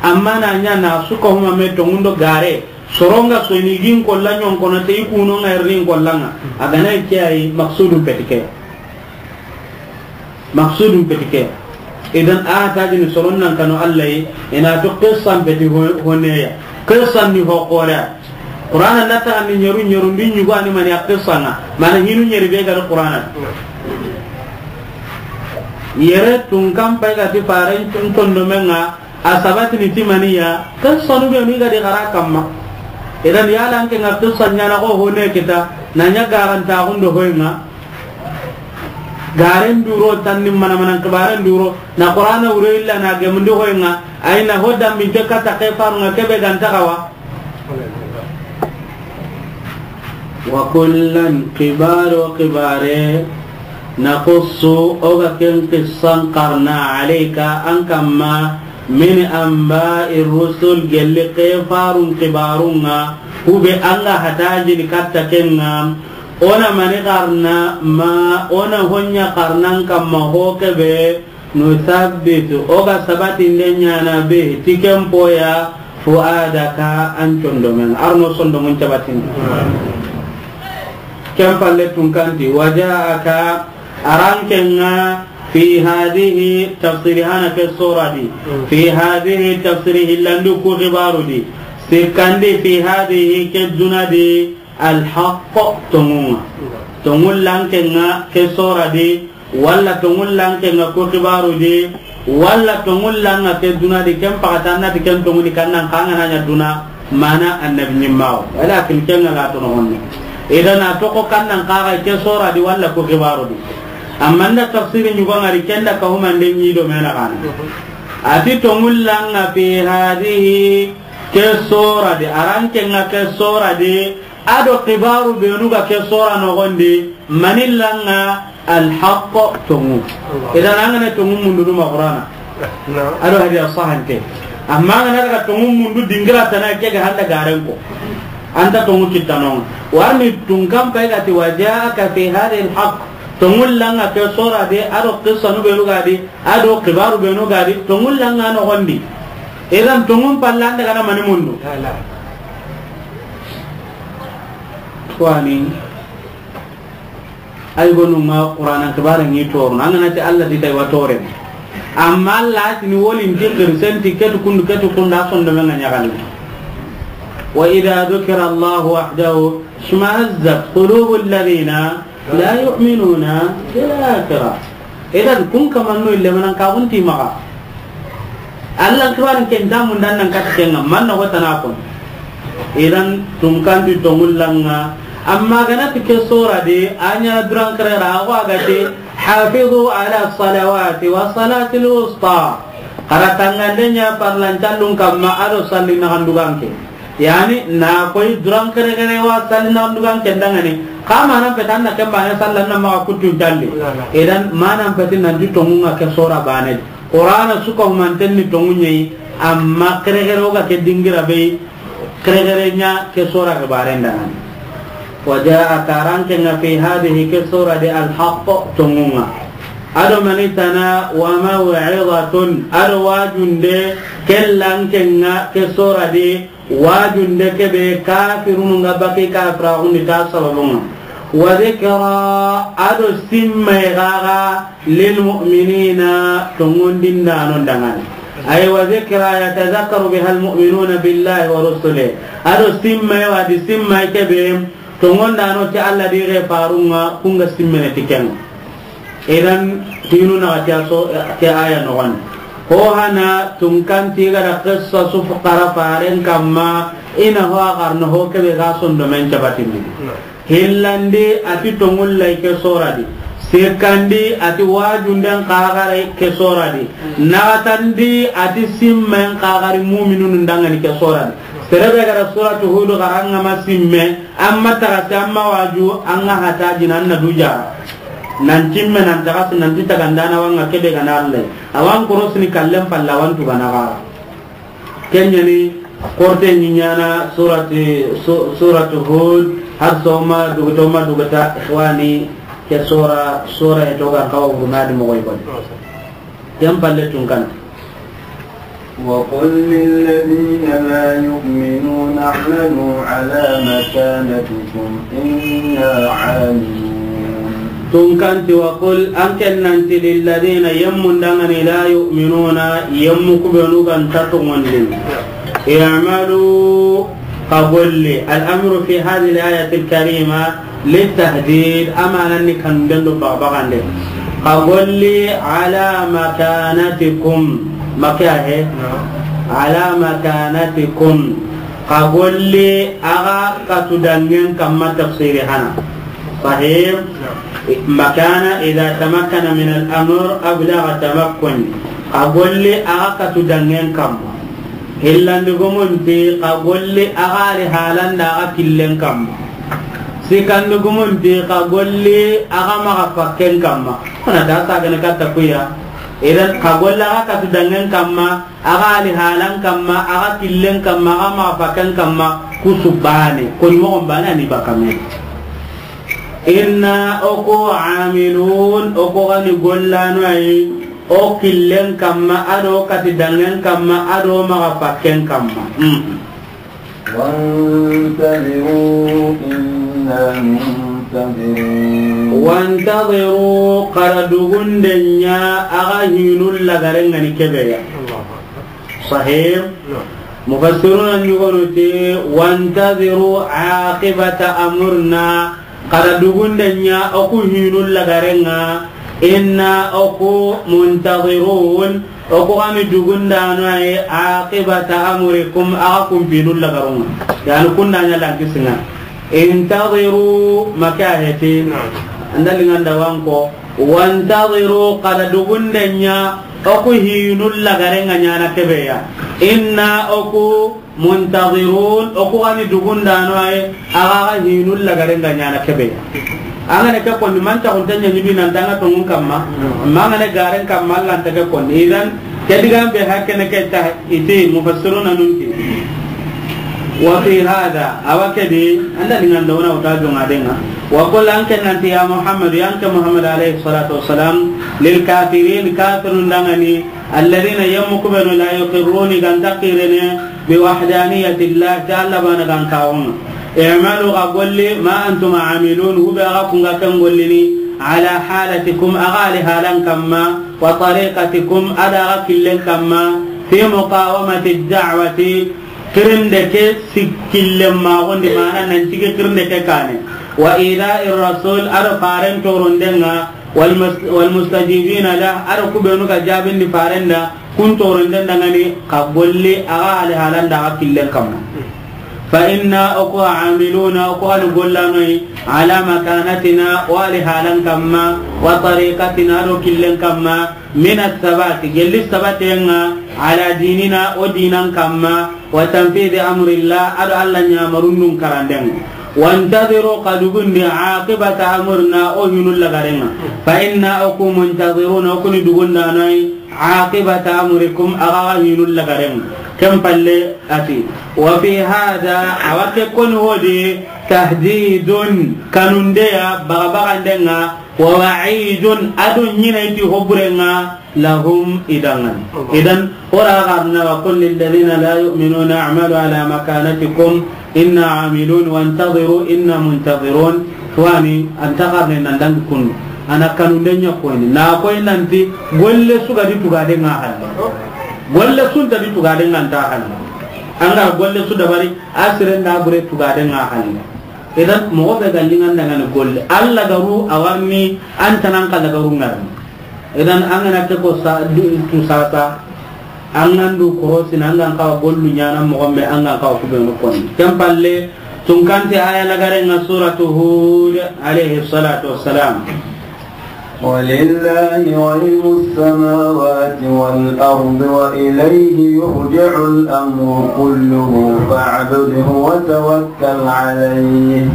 Amma na ɲa na suka huma me tongundo gare, soronga soyini gin kolla ɲonkono te i kunonga erni kollanga. A gana ke ayi maksudun petike. Maksudun petike. Idan a tajini soron nan kanu Allah yi, ina to qissan peti ho-, honeya. Qissan ni ho xoore. Qur'ana na ta ni ɲeru ɲeru ndi ɲugo ani mani a qissanga. Mana hinu ɲeri be ga Qur'ana. Yere tun kan pay ga ti faren tun condomenga. A sabatini ti maniya, qissanu be ni ga di xara kamma. Idan yala an ke nga qissa ɲana ko hone kita, na ɲa garanta gundo hoyinga. Garen duro tanni mana mana kibaren duro, na Qur'ana wure illa na gemundi hoyinga, ayna hodda min te kata ke farunga kebe ganta kawa. Wa kullan, kibaro kibare, naqussu, o ga ken qissan qarna, alayka, an kamma, min anba'i rusul, gelli ke farun kibarunga, hube anga hatajini katta kenga, ona mani qarna, ma ona honya qarnan kamma ho kebe, nuthabbitu, o ga sabatinde ɲana be, ti ken poya, fuadaka, an condomen, arno sondomun cabatinde. Ken palle tun kanti, wajaaka, arankenga, fi hadihi, tafsiri hana ke sora di, fi hadihi, tafsiri hillandu ku xibaru di, sikkandi, fi hadihi, ke duna di, alhaq, tongunga. Tongun lankenga, ke sora di, walla tongun lankenga ko kibaru di, walla tongun langa ke duna di, ken pakata na ti ken tongu di kannan kanga na ɲa duna, mana annabi ɲimmawo. Walakin ken nga la tono honne. Idan a toko kannan kaga ke sora di walla ko kibaru di. Amma nda tafsiri ɲugo ngari kenda ka humande ɲi do mena kana. Ati tongun langa fi hadihi ke sora di, arankenga ke sora di, Ado kibaru benu ga ke sora nogondi, manillanga alhaq tongu. Idan angana tongu mundu duma Qur'ana. Ado hadiya sahante. Amma angana daga tongu mundu dingira tana ke ga handa garenko. Anta tongu kitanonga. Warni tungkan pay gati wajaaka fi hadhihi alhaq. Tongu langa ke sora de, ado qissa nu benu gadi, ado kibaru benu gadi, tongu langa nogondi. Idan tongu pallanda gana mani mundu. Tuwani, ay gonu ma Qur'ana kibare ni toru, nangana ti Allah di tay wa tore. Amma Allah ti ni woli ndi kirsenti ketu kundu ketu kunda sondo menga ɲagali. Wa idha dhukira Allah wahdahu shmazzat qulubul ladhina la yu'minuna bil akhirah. Idan kun kamanno ille manan ka kun ti maxa. Allah kibarin ken damun dan nan kata kenga manna ko tana kon. Idan tun kan di tongullanga. Amma gana ti ke sora de, anya duran karera, awa gati, hafizu ala salawati wa salatil wusta. Kara tangande nya parlan callun kamma ado salli na handuganke. Yani, na koy duran kere kere wa salli na dugan kendangani. Kama nan petan na kemba ne sallan na ma kutun talli. Idan manan petin nan di tongunga ke sora bane. Qur'ana suka humanten ni tongunye, amma kere kere ga ke dingira be, kere kere nya ke sora ke barendangani. Wa jaa karanke nga fi hadhihi ke sora de alhaq tongunga. Ado manitana wa maw'izatun, ado wajunde kellanke nga ke sora de Wajunde kebe kafirunu nga baki kafiraxundi ta sababunga. Wa zikra, ado simmay gaga, lil mu'minina, tongondindano dangani. Ay wa zikra yatazakkaru biha al mu'minuna billahi wa rusulihi. Ado simmay wadi simmay kebe, tongondano ti Allah di ge farunga, kunga simmene tikenga. Idan, hinu na ke so, ke aya noxon. Ho hana tunkanti ga da qissa su fuqara faren kamma, ina ho a garno ho kebe ga sondo men cabatindi. Hillandi ati tongullay ke soradi. Sikkandi ati wajunden kagare ke soradi. Naxatandi ati simmen kagari muminun dangani ke soradi. Serebe ga da suratu Hudu garanga ma simme, amma taga si amma waju, anga hata jinan na duja. Nan timme, nan taxasi, nan ti tagandana wa ŋa kebe ga na Alla. A wa n korosini kallen palle, a wa n tugana xa. Ken ɲa ni korte ɲi ɲaana surati, su-, suratu Hud, har soma duguta, ma duguta, ikhwani, ke sura, sura e to ga n kawa wuruna di moxo yi koni. Ken palle tun kan. وقل للذين لا يؤمنون اعملوا على مكانتكم إنا عاملون. Tun kan ti, وقل, an ke nan ti, للذين, yemmun dangani, لا يؤمنون, yemmu kubenu ga nta tongondini. اعملوا, xa golli. الأمر في هذه الآية الكريمة للتهديد, a manan ni kanunden do babaxanden. Xa golli على مكانتكم, ma ke ya he? على مكانتكم. Xa golli axa katu dangen kamma, tafsiri hana. Sahih? مكان إذا تمكن من الأمر أبلغ تمكن. Xa golli axa katu dangen kamma. Hillandi gumun ti, xa golli axa ri halanda axa killen kamma. Sikandi gumun ti, xa golli axa maxa fakken kamma. Ona ta sagane katta kuya. Idan, xa golli axa katu dangen kamma, axa ri halan kamma, axa killen kamma, axa maxa fakken kamma, kusu bane. Koni moxon bane ani bakame. Inna, o ku, amilun, o ku gani gollano ayi. O killen kamma, a do kati dangen kamma, a do maxa fakken kamma. Hmm. وانتظروا إنا منتظرون. وانتظروا, xa ra dugunden ɲa, axa hinun lagaren ŋa ni kebe ya. Sahih? Mufassiruna ɲugonu ti, وانتظروا عاقبة أمرنا. Xa ra dugunden ɲa, o ku hinun lagaren ŋa, inna, o ku, منتظرون, o ku gani dugundano ayi, عاقبة أمركم, axa kun hinun lagaren ŋa. Yani kunda ɲa lankisinŋa. انتظروا, ma ke ya he ti? An da linganda wa n ko. وانتظروا, xa ra dugunden ɲa, o ku hinun lagaren ŋa ɲaana kebe ya. Inna, o ku, منتظرون, o ku gani dugundano ayi, axa ga hinun lagaren ga ɲaana kebe. An ga na ke koni, mantaxu nta ɲa ɲi bi nan tanga tongun kamma, ma an ga na garen kamma, Alla nta ke koni. Idan, ke digan be hakkene ke ta iti mufassiruna nun ti. وفي هذا, a wa ke di, an da linganda wa na wuta jonga denga. وقل, an ke nan ti, يا محمد, ya n ke Muhammad alayhi salatu wassalam, للكافرين, kafirun dangani, الذين, yemmu kubenu, لا يقرون, i ga nta kirene, بوحدانية الله, ti Alla bana ga n kawon ŋa. اعملوا, xa golli, ما أنتم عاملون, hube axa kun ga ken gollini, على حالتكم, axa ri halan kamma, وطريقتكم, a do axa killen kamma, في مقاومة الدعوة, kirinde ke sikkillen maxondi, mana nan cige kirinde ke kane. وإيذاء الرسول, a do faren toronden ŋa, والمس-, والمستجيبين له, a do kubenu ga jabindi faren da, kun toronden dangani, xa golli axa ri halan da axa killen kamma. فإنا, o ku, عاملون, o ku gani gollano yi, على مكانتنا, o ri halan kamma, وطريقتنا, a do killen kamma, من الثبات, gelli sabaten ŋa, على ديننا, o dinan kamma, وتنفيذ أمر الله, a do Alla ɲamarun nun karanden ŋa. وانتظروا, xa dugundi, عاقبة أمرنا, o hinun lagaren ŋa. فإنا, o ku, منتظرون, o ku ni dugundano yi, عاقبة أمركم, axa ga hinun lagaren ŋa. Ken palle a ti. وفي هذا, a wa ke koni hodi, تهديد, kanunde ya, baga baganden ŋa, ووعيد, a do ɲina i ti hoburen ŋa, لهم, i dangan. Idan, o ra garna, وقل للذين لا يؤمنون اعملوا على مكانتكم إنا عاملون وانتظروا إنا منتظرون. Wani, an ta garne nan dangi kundu. A na kanunde ɲa koyini. Na koyi nan ti, golle su ga di tugaden ŋa halle. Golle su nta di tugaden ŋa nta halle. An ga golle su dabari, a siren da bure tugaden ŋa halle. Idan, moxo be ga linganda ŋa ni golle. Alla ga ru a warni, an ta nan xa ga ru ŋarni. Idan, an ga na ke ko sa, du, tu sasa, an ga ndu korosini, an ga n kawa gollu ɲaana moxo be, an ga n kawa kubenu koni. Ken palle, tun kan ti aya lagaren ŋa suratu Hud, alayhi salatu wassalam. ولله غيب السماوات والأرض وإليه يرجع الأمر كله فاعبده وتوكل عليه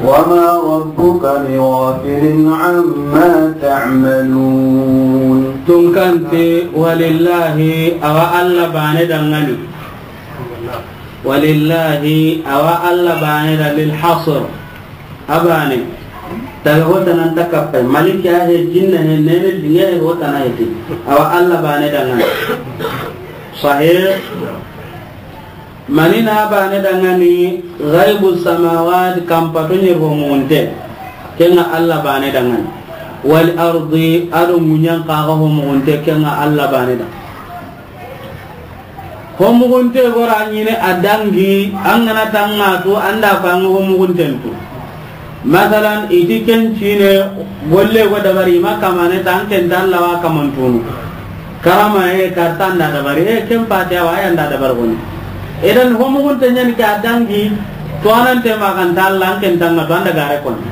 وما ربك بغافل عما تعملون. Tun kan ti, ولله, a wa Alla baane danŋa ni. ولله, a wa Alla baane da, للحصر. A baane. Taga ho tana nta kappay. Maliki a he, jinna he, nene linge he, ho tana he ti. A wa Alla baane danŋa ni. Sahih. Mani na baane danŋa ni? غيب السماوات, kanpato ɲeri ho muxunte. Ken ŋa Alla baane danŋa ni. والأرض, a do ŋuɲan xa ga ho muxunte, ken ŋa Alla baane da. Ho muxunte gora ɲiini a dangi, an ga na tanŋa tu, an da ko an ga ho muxunten tu. Masalan, i ti ken cine, golle go dabari, i ma kamane ta, an ken ta Alla wa kamantunu. Karama e, karta an da dabari, e, ken pati a wa, a ya an da dabari goni. Idan ho muxunte ɲa ni ke a dangi, to anante ma kan ta Alla, an ken tanŋa tu, an da gare koni.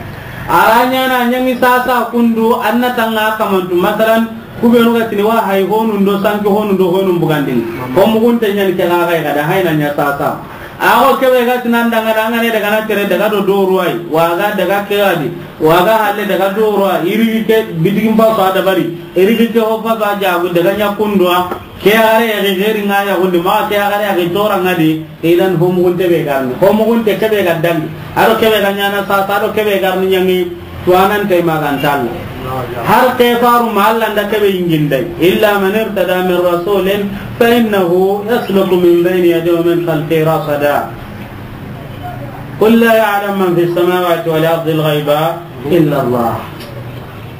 A ra ɲaana ɲaŋi sasa kundu, an na tanŋa kamantu. Masalan, Ku beenu ga tini wa hay honu ndo sanki honu ndo honu bugandini. Ho muxunte ɲa ni ke ga ga da hay na ɲa sasa. A go ke be ga tinan danŋa da, an ga ne daga na tere daga do doruwai. Wa ga daga ke ga di. Wa ga halle daga doruwa. Iri ke bitigin ba fa dabari. Iri ke ho fa ba jagu daga ɲa kunduwa. Ke are ya geri ŋa ya gundi ma ke are ya tora ŋa di. Idan ho muxunte be ga ni. Ho muxunte ke be ga dangi. A do ke be ga ɲaana sasa, a do ke be ga ni ɲaŋi. Tuwanante ma ga nta Alla. Har ke faru ma Alla nda ke be yinginday. إلا من ارتضى من رسول فإنه يسلك من بين يديه ومن خلفه رصدا. قل لا يعلم من في السماوات والأرض الغيب إلا الله.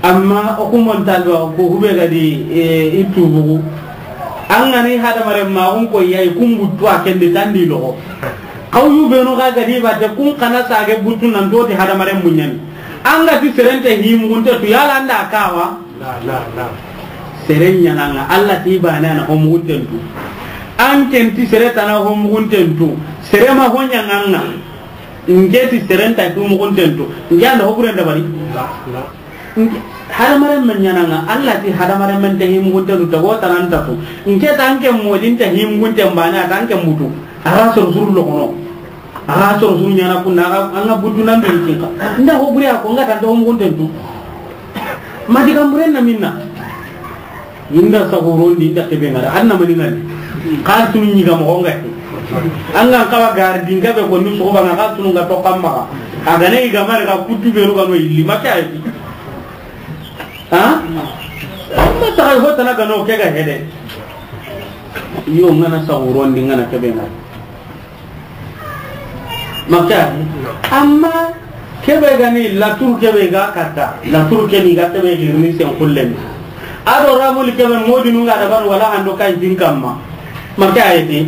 Amma o ku montalba ku hube ga di, e, i tubugu. An ga ni hadamaren ma, o ku ko yayi, ku n buttu a ken di tandi loxo. Xawlu beenu ga ga di ba te, ku n xa na sage buttu nan toti hadamaren muɲani. An ga ti sere nta hi muxunte tu, yala an da kawa? La, la, la. Sere ɲaana ŋa, Alla ti baane a na ho muxunten tu. An ken ti sere tana ho muxunten tu. Sere ma ho ɲaŋa ŋa. N ke ti sere nta hi muxunten tu. N ke an da ho buren dabari. La, la. N ke, hadamaren men ɲaana ŋa, Alla ti hadamaren men nta hi muxunten tu, tago tana nta tu. N ke ta an ke modi nta hi muxunten baane, a ta an ke mutu. A ga soro suru loxono. A ga soro suru ɲaana kunna, a ga, an ga butu nan be kinka. N da ho bure a ko, n ga ta ho muxunten tu. Ma digan buren na minna. Inda saxuron di, inda ke be ŋa da, an na mani ŋa ni. Xa tunu ɲi ga moxo ŋa he. An ga n xawa gari di n ga be ko ni soxuba ŋa, xa tunu ŋa to kamma. A ga ne i ga mare ga kutu be ru ga no illi, ma ke a yi. Ha? Amma ta ho tana ga no ke ga hede. Yo ŋa na saxuron di ŋa na ke be ŋa. Maka, amma ke be ga ni latur ke be ga katta, latur ke ni ga ke be girni sen kullen. A do ramul ke be modi nu ŋa da ban wala hando kan jin kamma. Maka ayeti.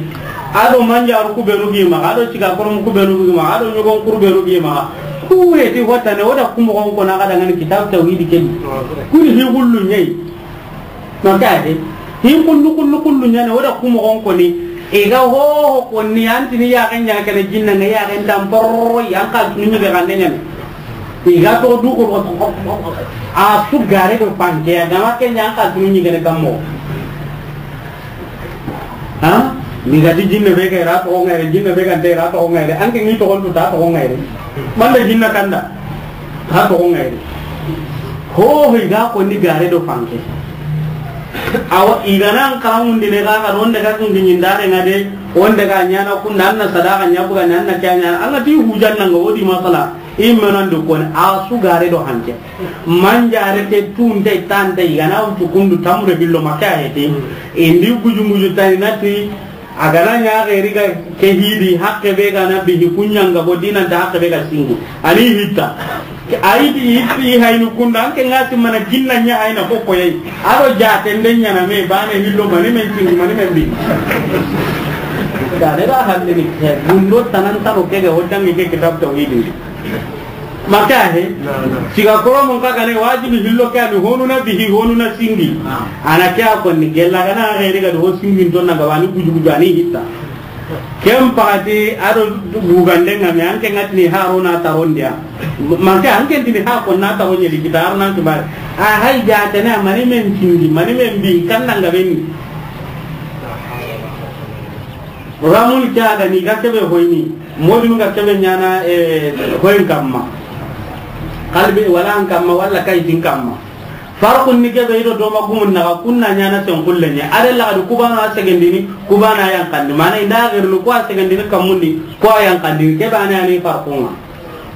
A do manjaru ku beenu gi ma, a do ciga korom ku beenu gi ma, a do ɲogon kuru beenu gi ma. Ku we ti hotane, o da ku moxon ko na ga da ŋa ni kitab tawhid ke ni. Ku ni hi gullu ɲi. Maka ayeti. Hi kullu, kullu, kullu ɲaana, o da ku moxon ko ni. I ga ho ho ko ni, an ti ni ya ga ɲa ke ni jinna ŋa, ya ga nta porro, yan ka ni ɲi ga ne ɲaana. I ga to du ko, a su gare do panke, a ga ma ke ɲa an ka ni ɲi ga ne gammo. Ha? Ni ga ti jinne be ke ra to ŋa re, jinne be ga nte ra to ŋa re, an ke ni to ko ta to ŋa re. Manda jinna kanda. Ha to ŋa re. Ho ho i ga ko ni gare do panke. Awa i ga nan karamundi ne ga ga ronde ga kun ni ndare ŋa de, wonde ga ɲaana kun nan na sadaka ɲa buga nan na kya ɲaana. An ga ti hujan nan ga wodi masala. I menan du ko ni a su gare do hanke. Manjare te tunte tante i ga na wutu kundu tamre billo maka ayeti. Indi guju guju tani nati. A ga na ɲa xeri ga ke hidi, hakke be ga na bihi, ku ɲa ŋa bo dinan ta hakke be ga singu. Ani hitta. Ayi di, i haynu kunda, an ke ŋa ti mana jinna ɲa hayna ko koyi. A do jaate nde ɲaana me, baane hillo mani men singu, mani men bi. Da ne ga hande ni, he, gundo tanan tano ke ga, o dangi ke kitab tawhid. Maka he? Na, na. Siga koromo n ka gane wajibi hillo ke ani honu na bihi, honu na singi. Na. Ana ke a konni gella gana xeri ga do singi n tonna ga wani guju guju ani hitta. Ken paxati a do gugande ŋa me, an ke ŋa tini Haruna tarondiya. Manke an ke tini ha ko na taronye di kita Haruna kibare. A hay jatene mani men tindi, mani men bi, kan na ŋa beni. Ramul ke a ga ni ga kebe hoyni, modun ga kebe ɲaana, eh, hoyin kamma. Kalbe wala an kamma, wala kaytin kamma. Farqun ni kebe i do doma gumun naxa, kun na ɲaana sen kullenye. A de laxadi kubana a segendini, kubana a yanqandi. Mana i nda xerini, ko a segendini kammundi, ko a yanqandini. Kebe a na ni farqun ŋa.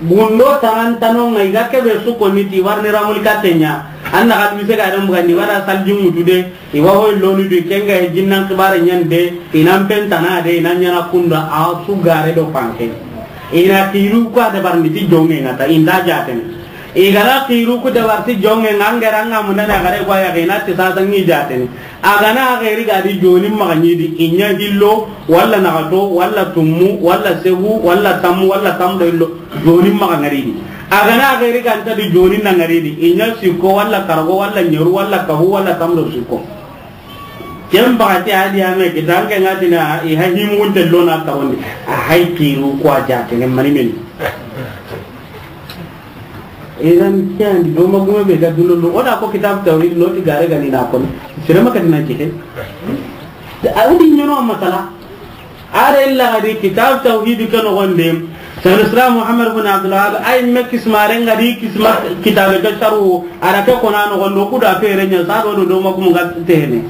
Gundo tanan tano ŋa i ga kebe su konni ti warni ramul katte ɲa. An na xadi mise ga den bugandi, wala salji mutu de. I wa hoy lonu du, ken ga he jinnan kibare ɲande, i nan pen tana de, i nan ɲaana kunda, a su gare do panke. I na kiru ko a dabarni ti jonge ŋa ta, i nda jatene. I ga na kiru ku dabar ti jonge ŋa, an ga ra ŋa munda na gare ko a ya ga i na ti sasa ŋi jatene. A ga na xeri ga di joni maxa ɲi di, i ɲa hillo, wala naxato, wala tummu, wala segu, wala tammu, wala tammu do hillo, joni maxa ŋari di. A ga na xeri ga nta di joni na ŋari di, i ɲa sikko, wala karago, wala ɲeru, wala kabu, wala tammu do sikko. Ken baxati a di ame kitanke ŋa tina i ha himunte lona tawondi. A hay kiru ko a jatene mani men. Idan ke andi do ma gume be ga duno lo. O da ko kitab tawhid no ti gare ga ni na ko. Sire ma ka dina jike. A wudi ɲono masala. A da illa ga di kitab tawhid ke noxon de. Shaykhul Islam Muhammad bin Abdul Wahhab ay me kismare ŋa di kisma kitabe ke saru. A da ke kona noxon do ku da fere ɲa sa do do ma gume ga tene.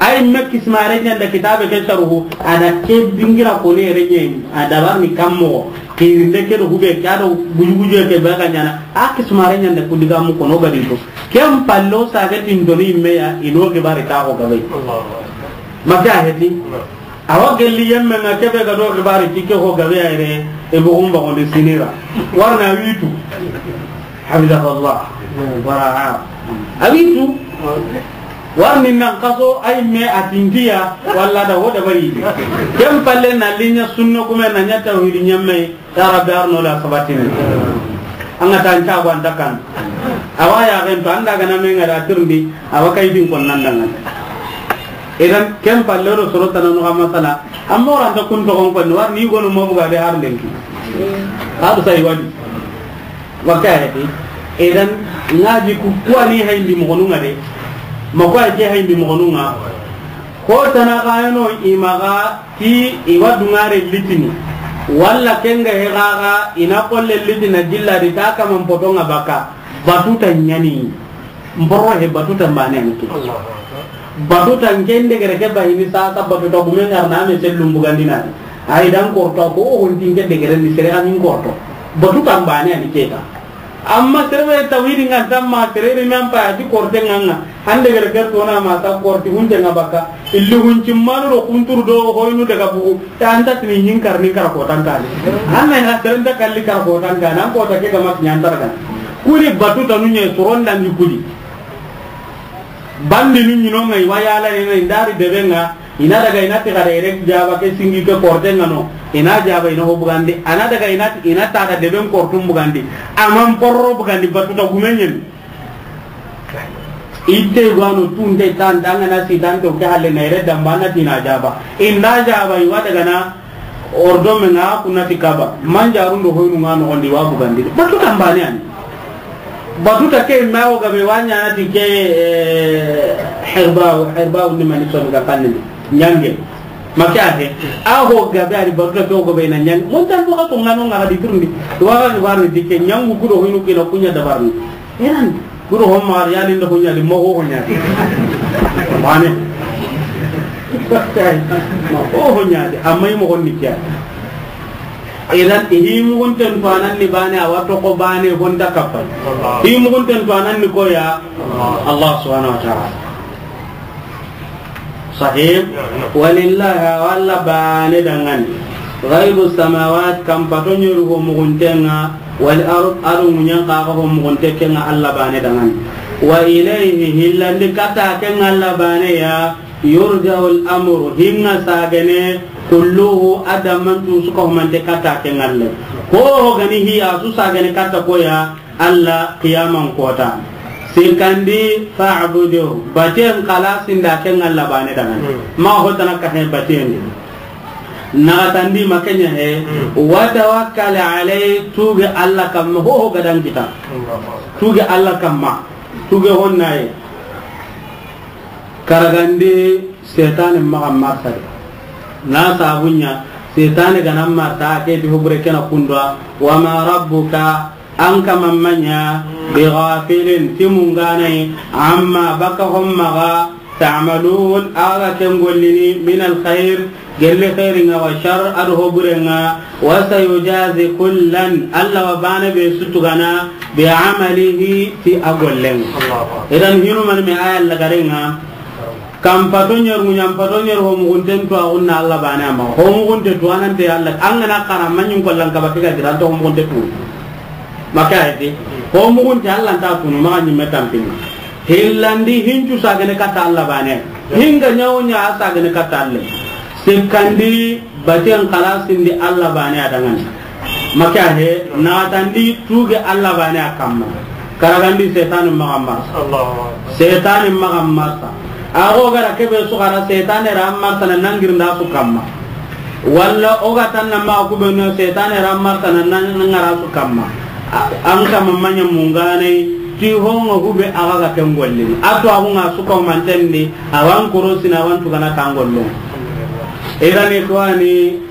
Ay me kismare ɲa da kitabe ke saru. A da ke dingira ko ne re ɲe. A da bar ni kammo. Kirinde ke do hube ke a do guju guju ke be ga ɲaana. A kismare ɲa da ku diga mu kono ga di to. Ken pallo sa ga tin do ni me ya i no ke bare ka ho ga be. Maka heti. Awa gelli yemme ŋa kebe ga do xibari ti ke ho gabe ya yere, e bo gumba gonde sinira. Warna witu. Hafidahullah. Waraha. A witu. Warni nan kaso ay me atindiya, walla da ho da bari. Ken palle na linya sunna kuma na ɲa tawhidi ɲamme. Ya Rabbi, arno la sabatini. An ga ta an cago an ta kan. Awa ya gen to, an da ga na me ŋa da tirndi, awa kay din kon nan dangan. Idan, ken palle do soro tananu ga masala. Amma ora an ta kun to kon kon, warni gonu mo buga de har lenki. Har sai wadi. Waka ya di. Idan, ŋa di ku, kuwa ni hayndi mo gonu ŋa de. Ma kuwa ke hayndi mo gonu ŋa. Ko tana ga no i maga. Ti i wa dungare litini, walla ken ga he gaga, i na kolle litina jilla di ta kaman poto ŋa baka, batuta ɲani, mboro he batuta mbane ni ke. Batuta nke ndegere ke bahini sasa batuta gume ŋa na me sellum bugandina. Ay dan korto ko o honti nke degere ni sere amin korto. Batuta mbane ni ke ta. Amma sere be tawhidi ŋa tamma sere ri men pa ti korte ŋa ŋa. Hande gere ker tona ma ta korti hunte ŋa baka. Illi hunci manu do kunturu do hoynu daga bugu. Ta anta tini ɲin karni kara ko tankani. Anna ina sere nda kalli kara ko tankani. An ko ta ke ga mat ɲantar kan. Kuli batu tanu ɲe soron dan di kuli. Bandi nu ɲino ŋa i wa yala ni ndari debe ŋa. I na daga i na ti xada yere jaba ke singi ke korte ŋa no. I na jaba i na ho bugandi. A na daga i na ti, i na ta da deben kortum bugandi. Aman porro bugandi batuta gume ɲen. Itte gwano tunte tan danga na si tan to ke halle na yere damba na ti na jaba. I na jaba i wa daga na ordo me ŋa ku na ti kaba. Manjarun do hoynu ŋa no gondi wa bugandi. Batuta mbane ani. Batuta ke ma o gabe wa ɲa na ti ke, eh, herba, herba ni mani so ga kanni. Ɲange. Maka he. A ho gabe ari batuta ke o gabe na ɲange. Mon tan ko ka to ŋa no ŋa di turndi. Wa ga warni di ke ɲangu ku do hoynu ke na ku ɲa dabarni. Iran. Ku do ho ma ya ni ndo ho ɲa di mo ho ɲa di. Bane. Ma ho ho ɲa di. Amma i mo gonni kiya. Idan, i hi mugunten to a nan ni bane, a wa toxo bane, honta kappa. Hi mugunten to a nan ni koya, Allah subhanahu wa ta'ala. Sahih. Walillahi, a wa Alla bane dangani. Ghaibu samawat, kam pato ɲeru ho mugunten ŋa, wal ard, a do ɲiiɲen xa ho mugunte ke ŋa Alla bane dangani. Wa ilayhi, hillandi katta ke ŋa Alla bane ya, yurja'ul amru, hinŋa sagene, kulluhu, a dammantu su ka humante katta ke ŋa Alla. Ho ho ga ni hi a su sagene katta koya, Alla qiyaman kota. Sikkandi, fa'budu, baten xalasin da ke ŋa Alla bane dangani. Hmm. Ma ho tana ka he baten di. Naxatandi ma ke ɲa he, wa tawakkal alay, tuge Alla kamma, ho ho ga da an kita. Tuge Alla kamma, tuge honnaye. Karagandi setane maxa marsa de. Na sabu ɲa, setane ga na marsa, a ke ti hobure ke na kundwa, wa ma rabbuka, an kama ma ɲa, bi ghafilin, ti munganay, amma, baka hommaga, ta'malun, a ga ken gollini, min al khair, gelle khairinga, wa shar, ado hoburenga, wa sayujazi kullan, Alla wa bane be sutugana, bi amalihi, ti a gollen. Allahu akbar. Idan hinu man me aya lagarenga, Kam pato ɲer, ŋuɲan pato ɲer, ho mugunten tu, a gunna Alla bane ama. Ho mugunte tu, anante Alla, an ga na xara, ma ɲin kollan kaba ke ga gira, an to ho mugunte tu. Ma ke ayeti, ho mugunte Alla nta tunu, maxa ɲimme tampini. Hillandi, hincu sagene katta Alla bane. Hinga ɲawo ɲa a sagene katta Alla. Sikkandi, baten xalasindi Alla bane a dangani. Ma ke a he, naxatandi tuge Alla bane a kamma. Karagandi setani maxa marsa. Allahu akbar. Setani maxa marsa. A go gara kebe su xara setane ra marsa na nangirinda su kamma. Walla o ga tanna maxa kubenu setane ra marsa na nan-, nangara su kamma. A-, an kama ma ɲa munganay ti honga hube a ga ga ken gollini. A to a hunga su ko mantendi, a wan korosina, a wan tugana kan gollon. Irani ko ani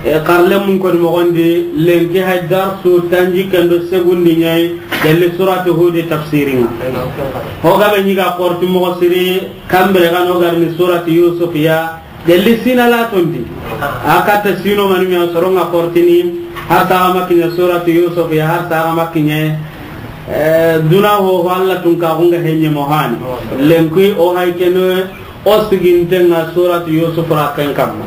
E, xarle mun koni moxondi, lenki hay darsu tanjikke ndo segundi ɲa yi, gelli surati Hudi tafsiringa. Ho gabe ɲi ga xorti moxo siri, kambire ga no garni surati Yusuf ya, gelli sina la tondi. A katta sino mani mi a soronga xortini, har saga ma kiɲa surati Yusuf ya, har saga ma kiɲa, e, duna ho, ho Alla tun ka xunga henye mohani. Lenki o hay keno, O sigintenga suratu Yusuf ra ken kamma.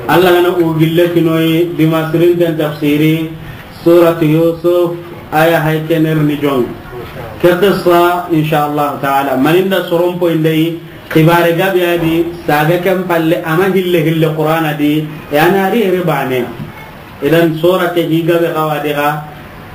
Alla gana u gille kinoyi, dimasirinten tafsiri, suratu Yusuf, aya hay kener ni jong. Ke qissa, insha Allah taala, maninda soron poyindayi, xibare gabe adi, saga ken palle, ama hille hille Qur'ana di, yani ari ere bane. Idan sura ke hi gabe xawa diga,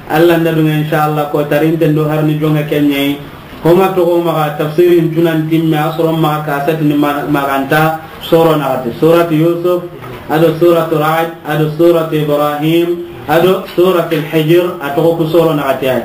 Alla nda dunga, insha Allah, ko tarinten do harni jonga kenɲeyi. Homa toxo maxa tafsirin tunan timme, a soro maxa kasatini ma-, maxanta soro naxati. Suratu Yusuf, ado suratu Ra'd, ado suratu Ibrahim, ado suratu Al-Hijr, a toxo ku soro naxati ay.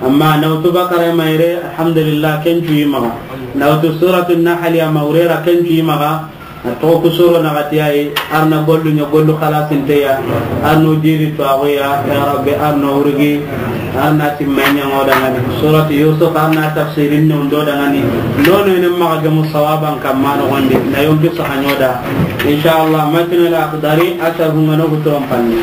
Amma nawtu Baqara mayre, alhamdulillah, ken cuyi maxa. Nawtu suratu Nahl ya mawrera, ken cuyi maxa. A toxo ku soro naxati yayi, arna gollu ɲa gollu xalasinteya, arno diri tuwaxuya, ya Rabbi, arno wurgi, arna timme ɲaŋo dangani. Suratu Yusuf, arna tafsirin ne undo dangani. Nono ene maxa gemu sawaban kamma noxondi, na yonki saxaɲo da. Insha Allah, matnal Akhdari, a sharhunga no huturon panni.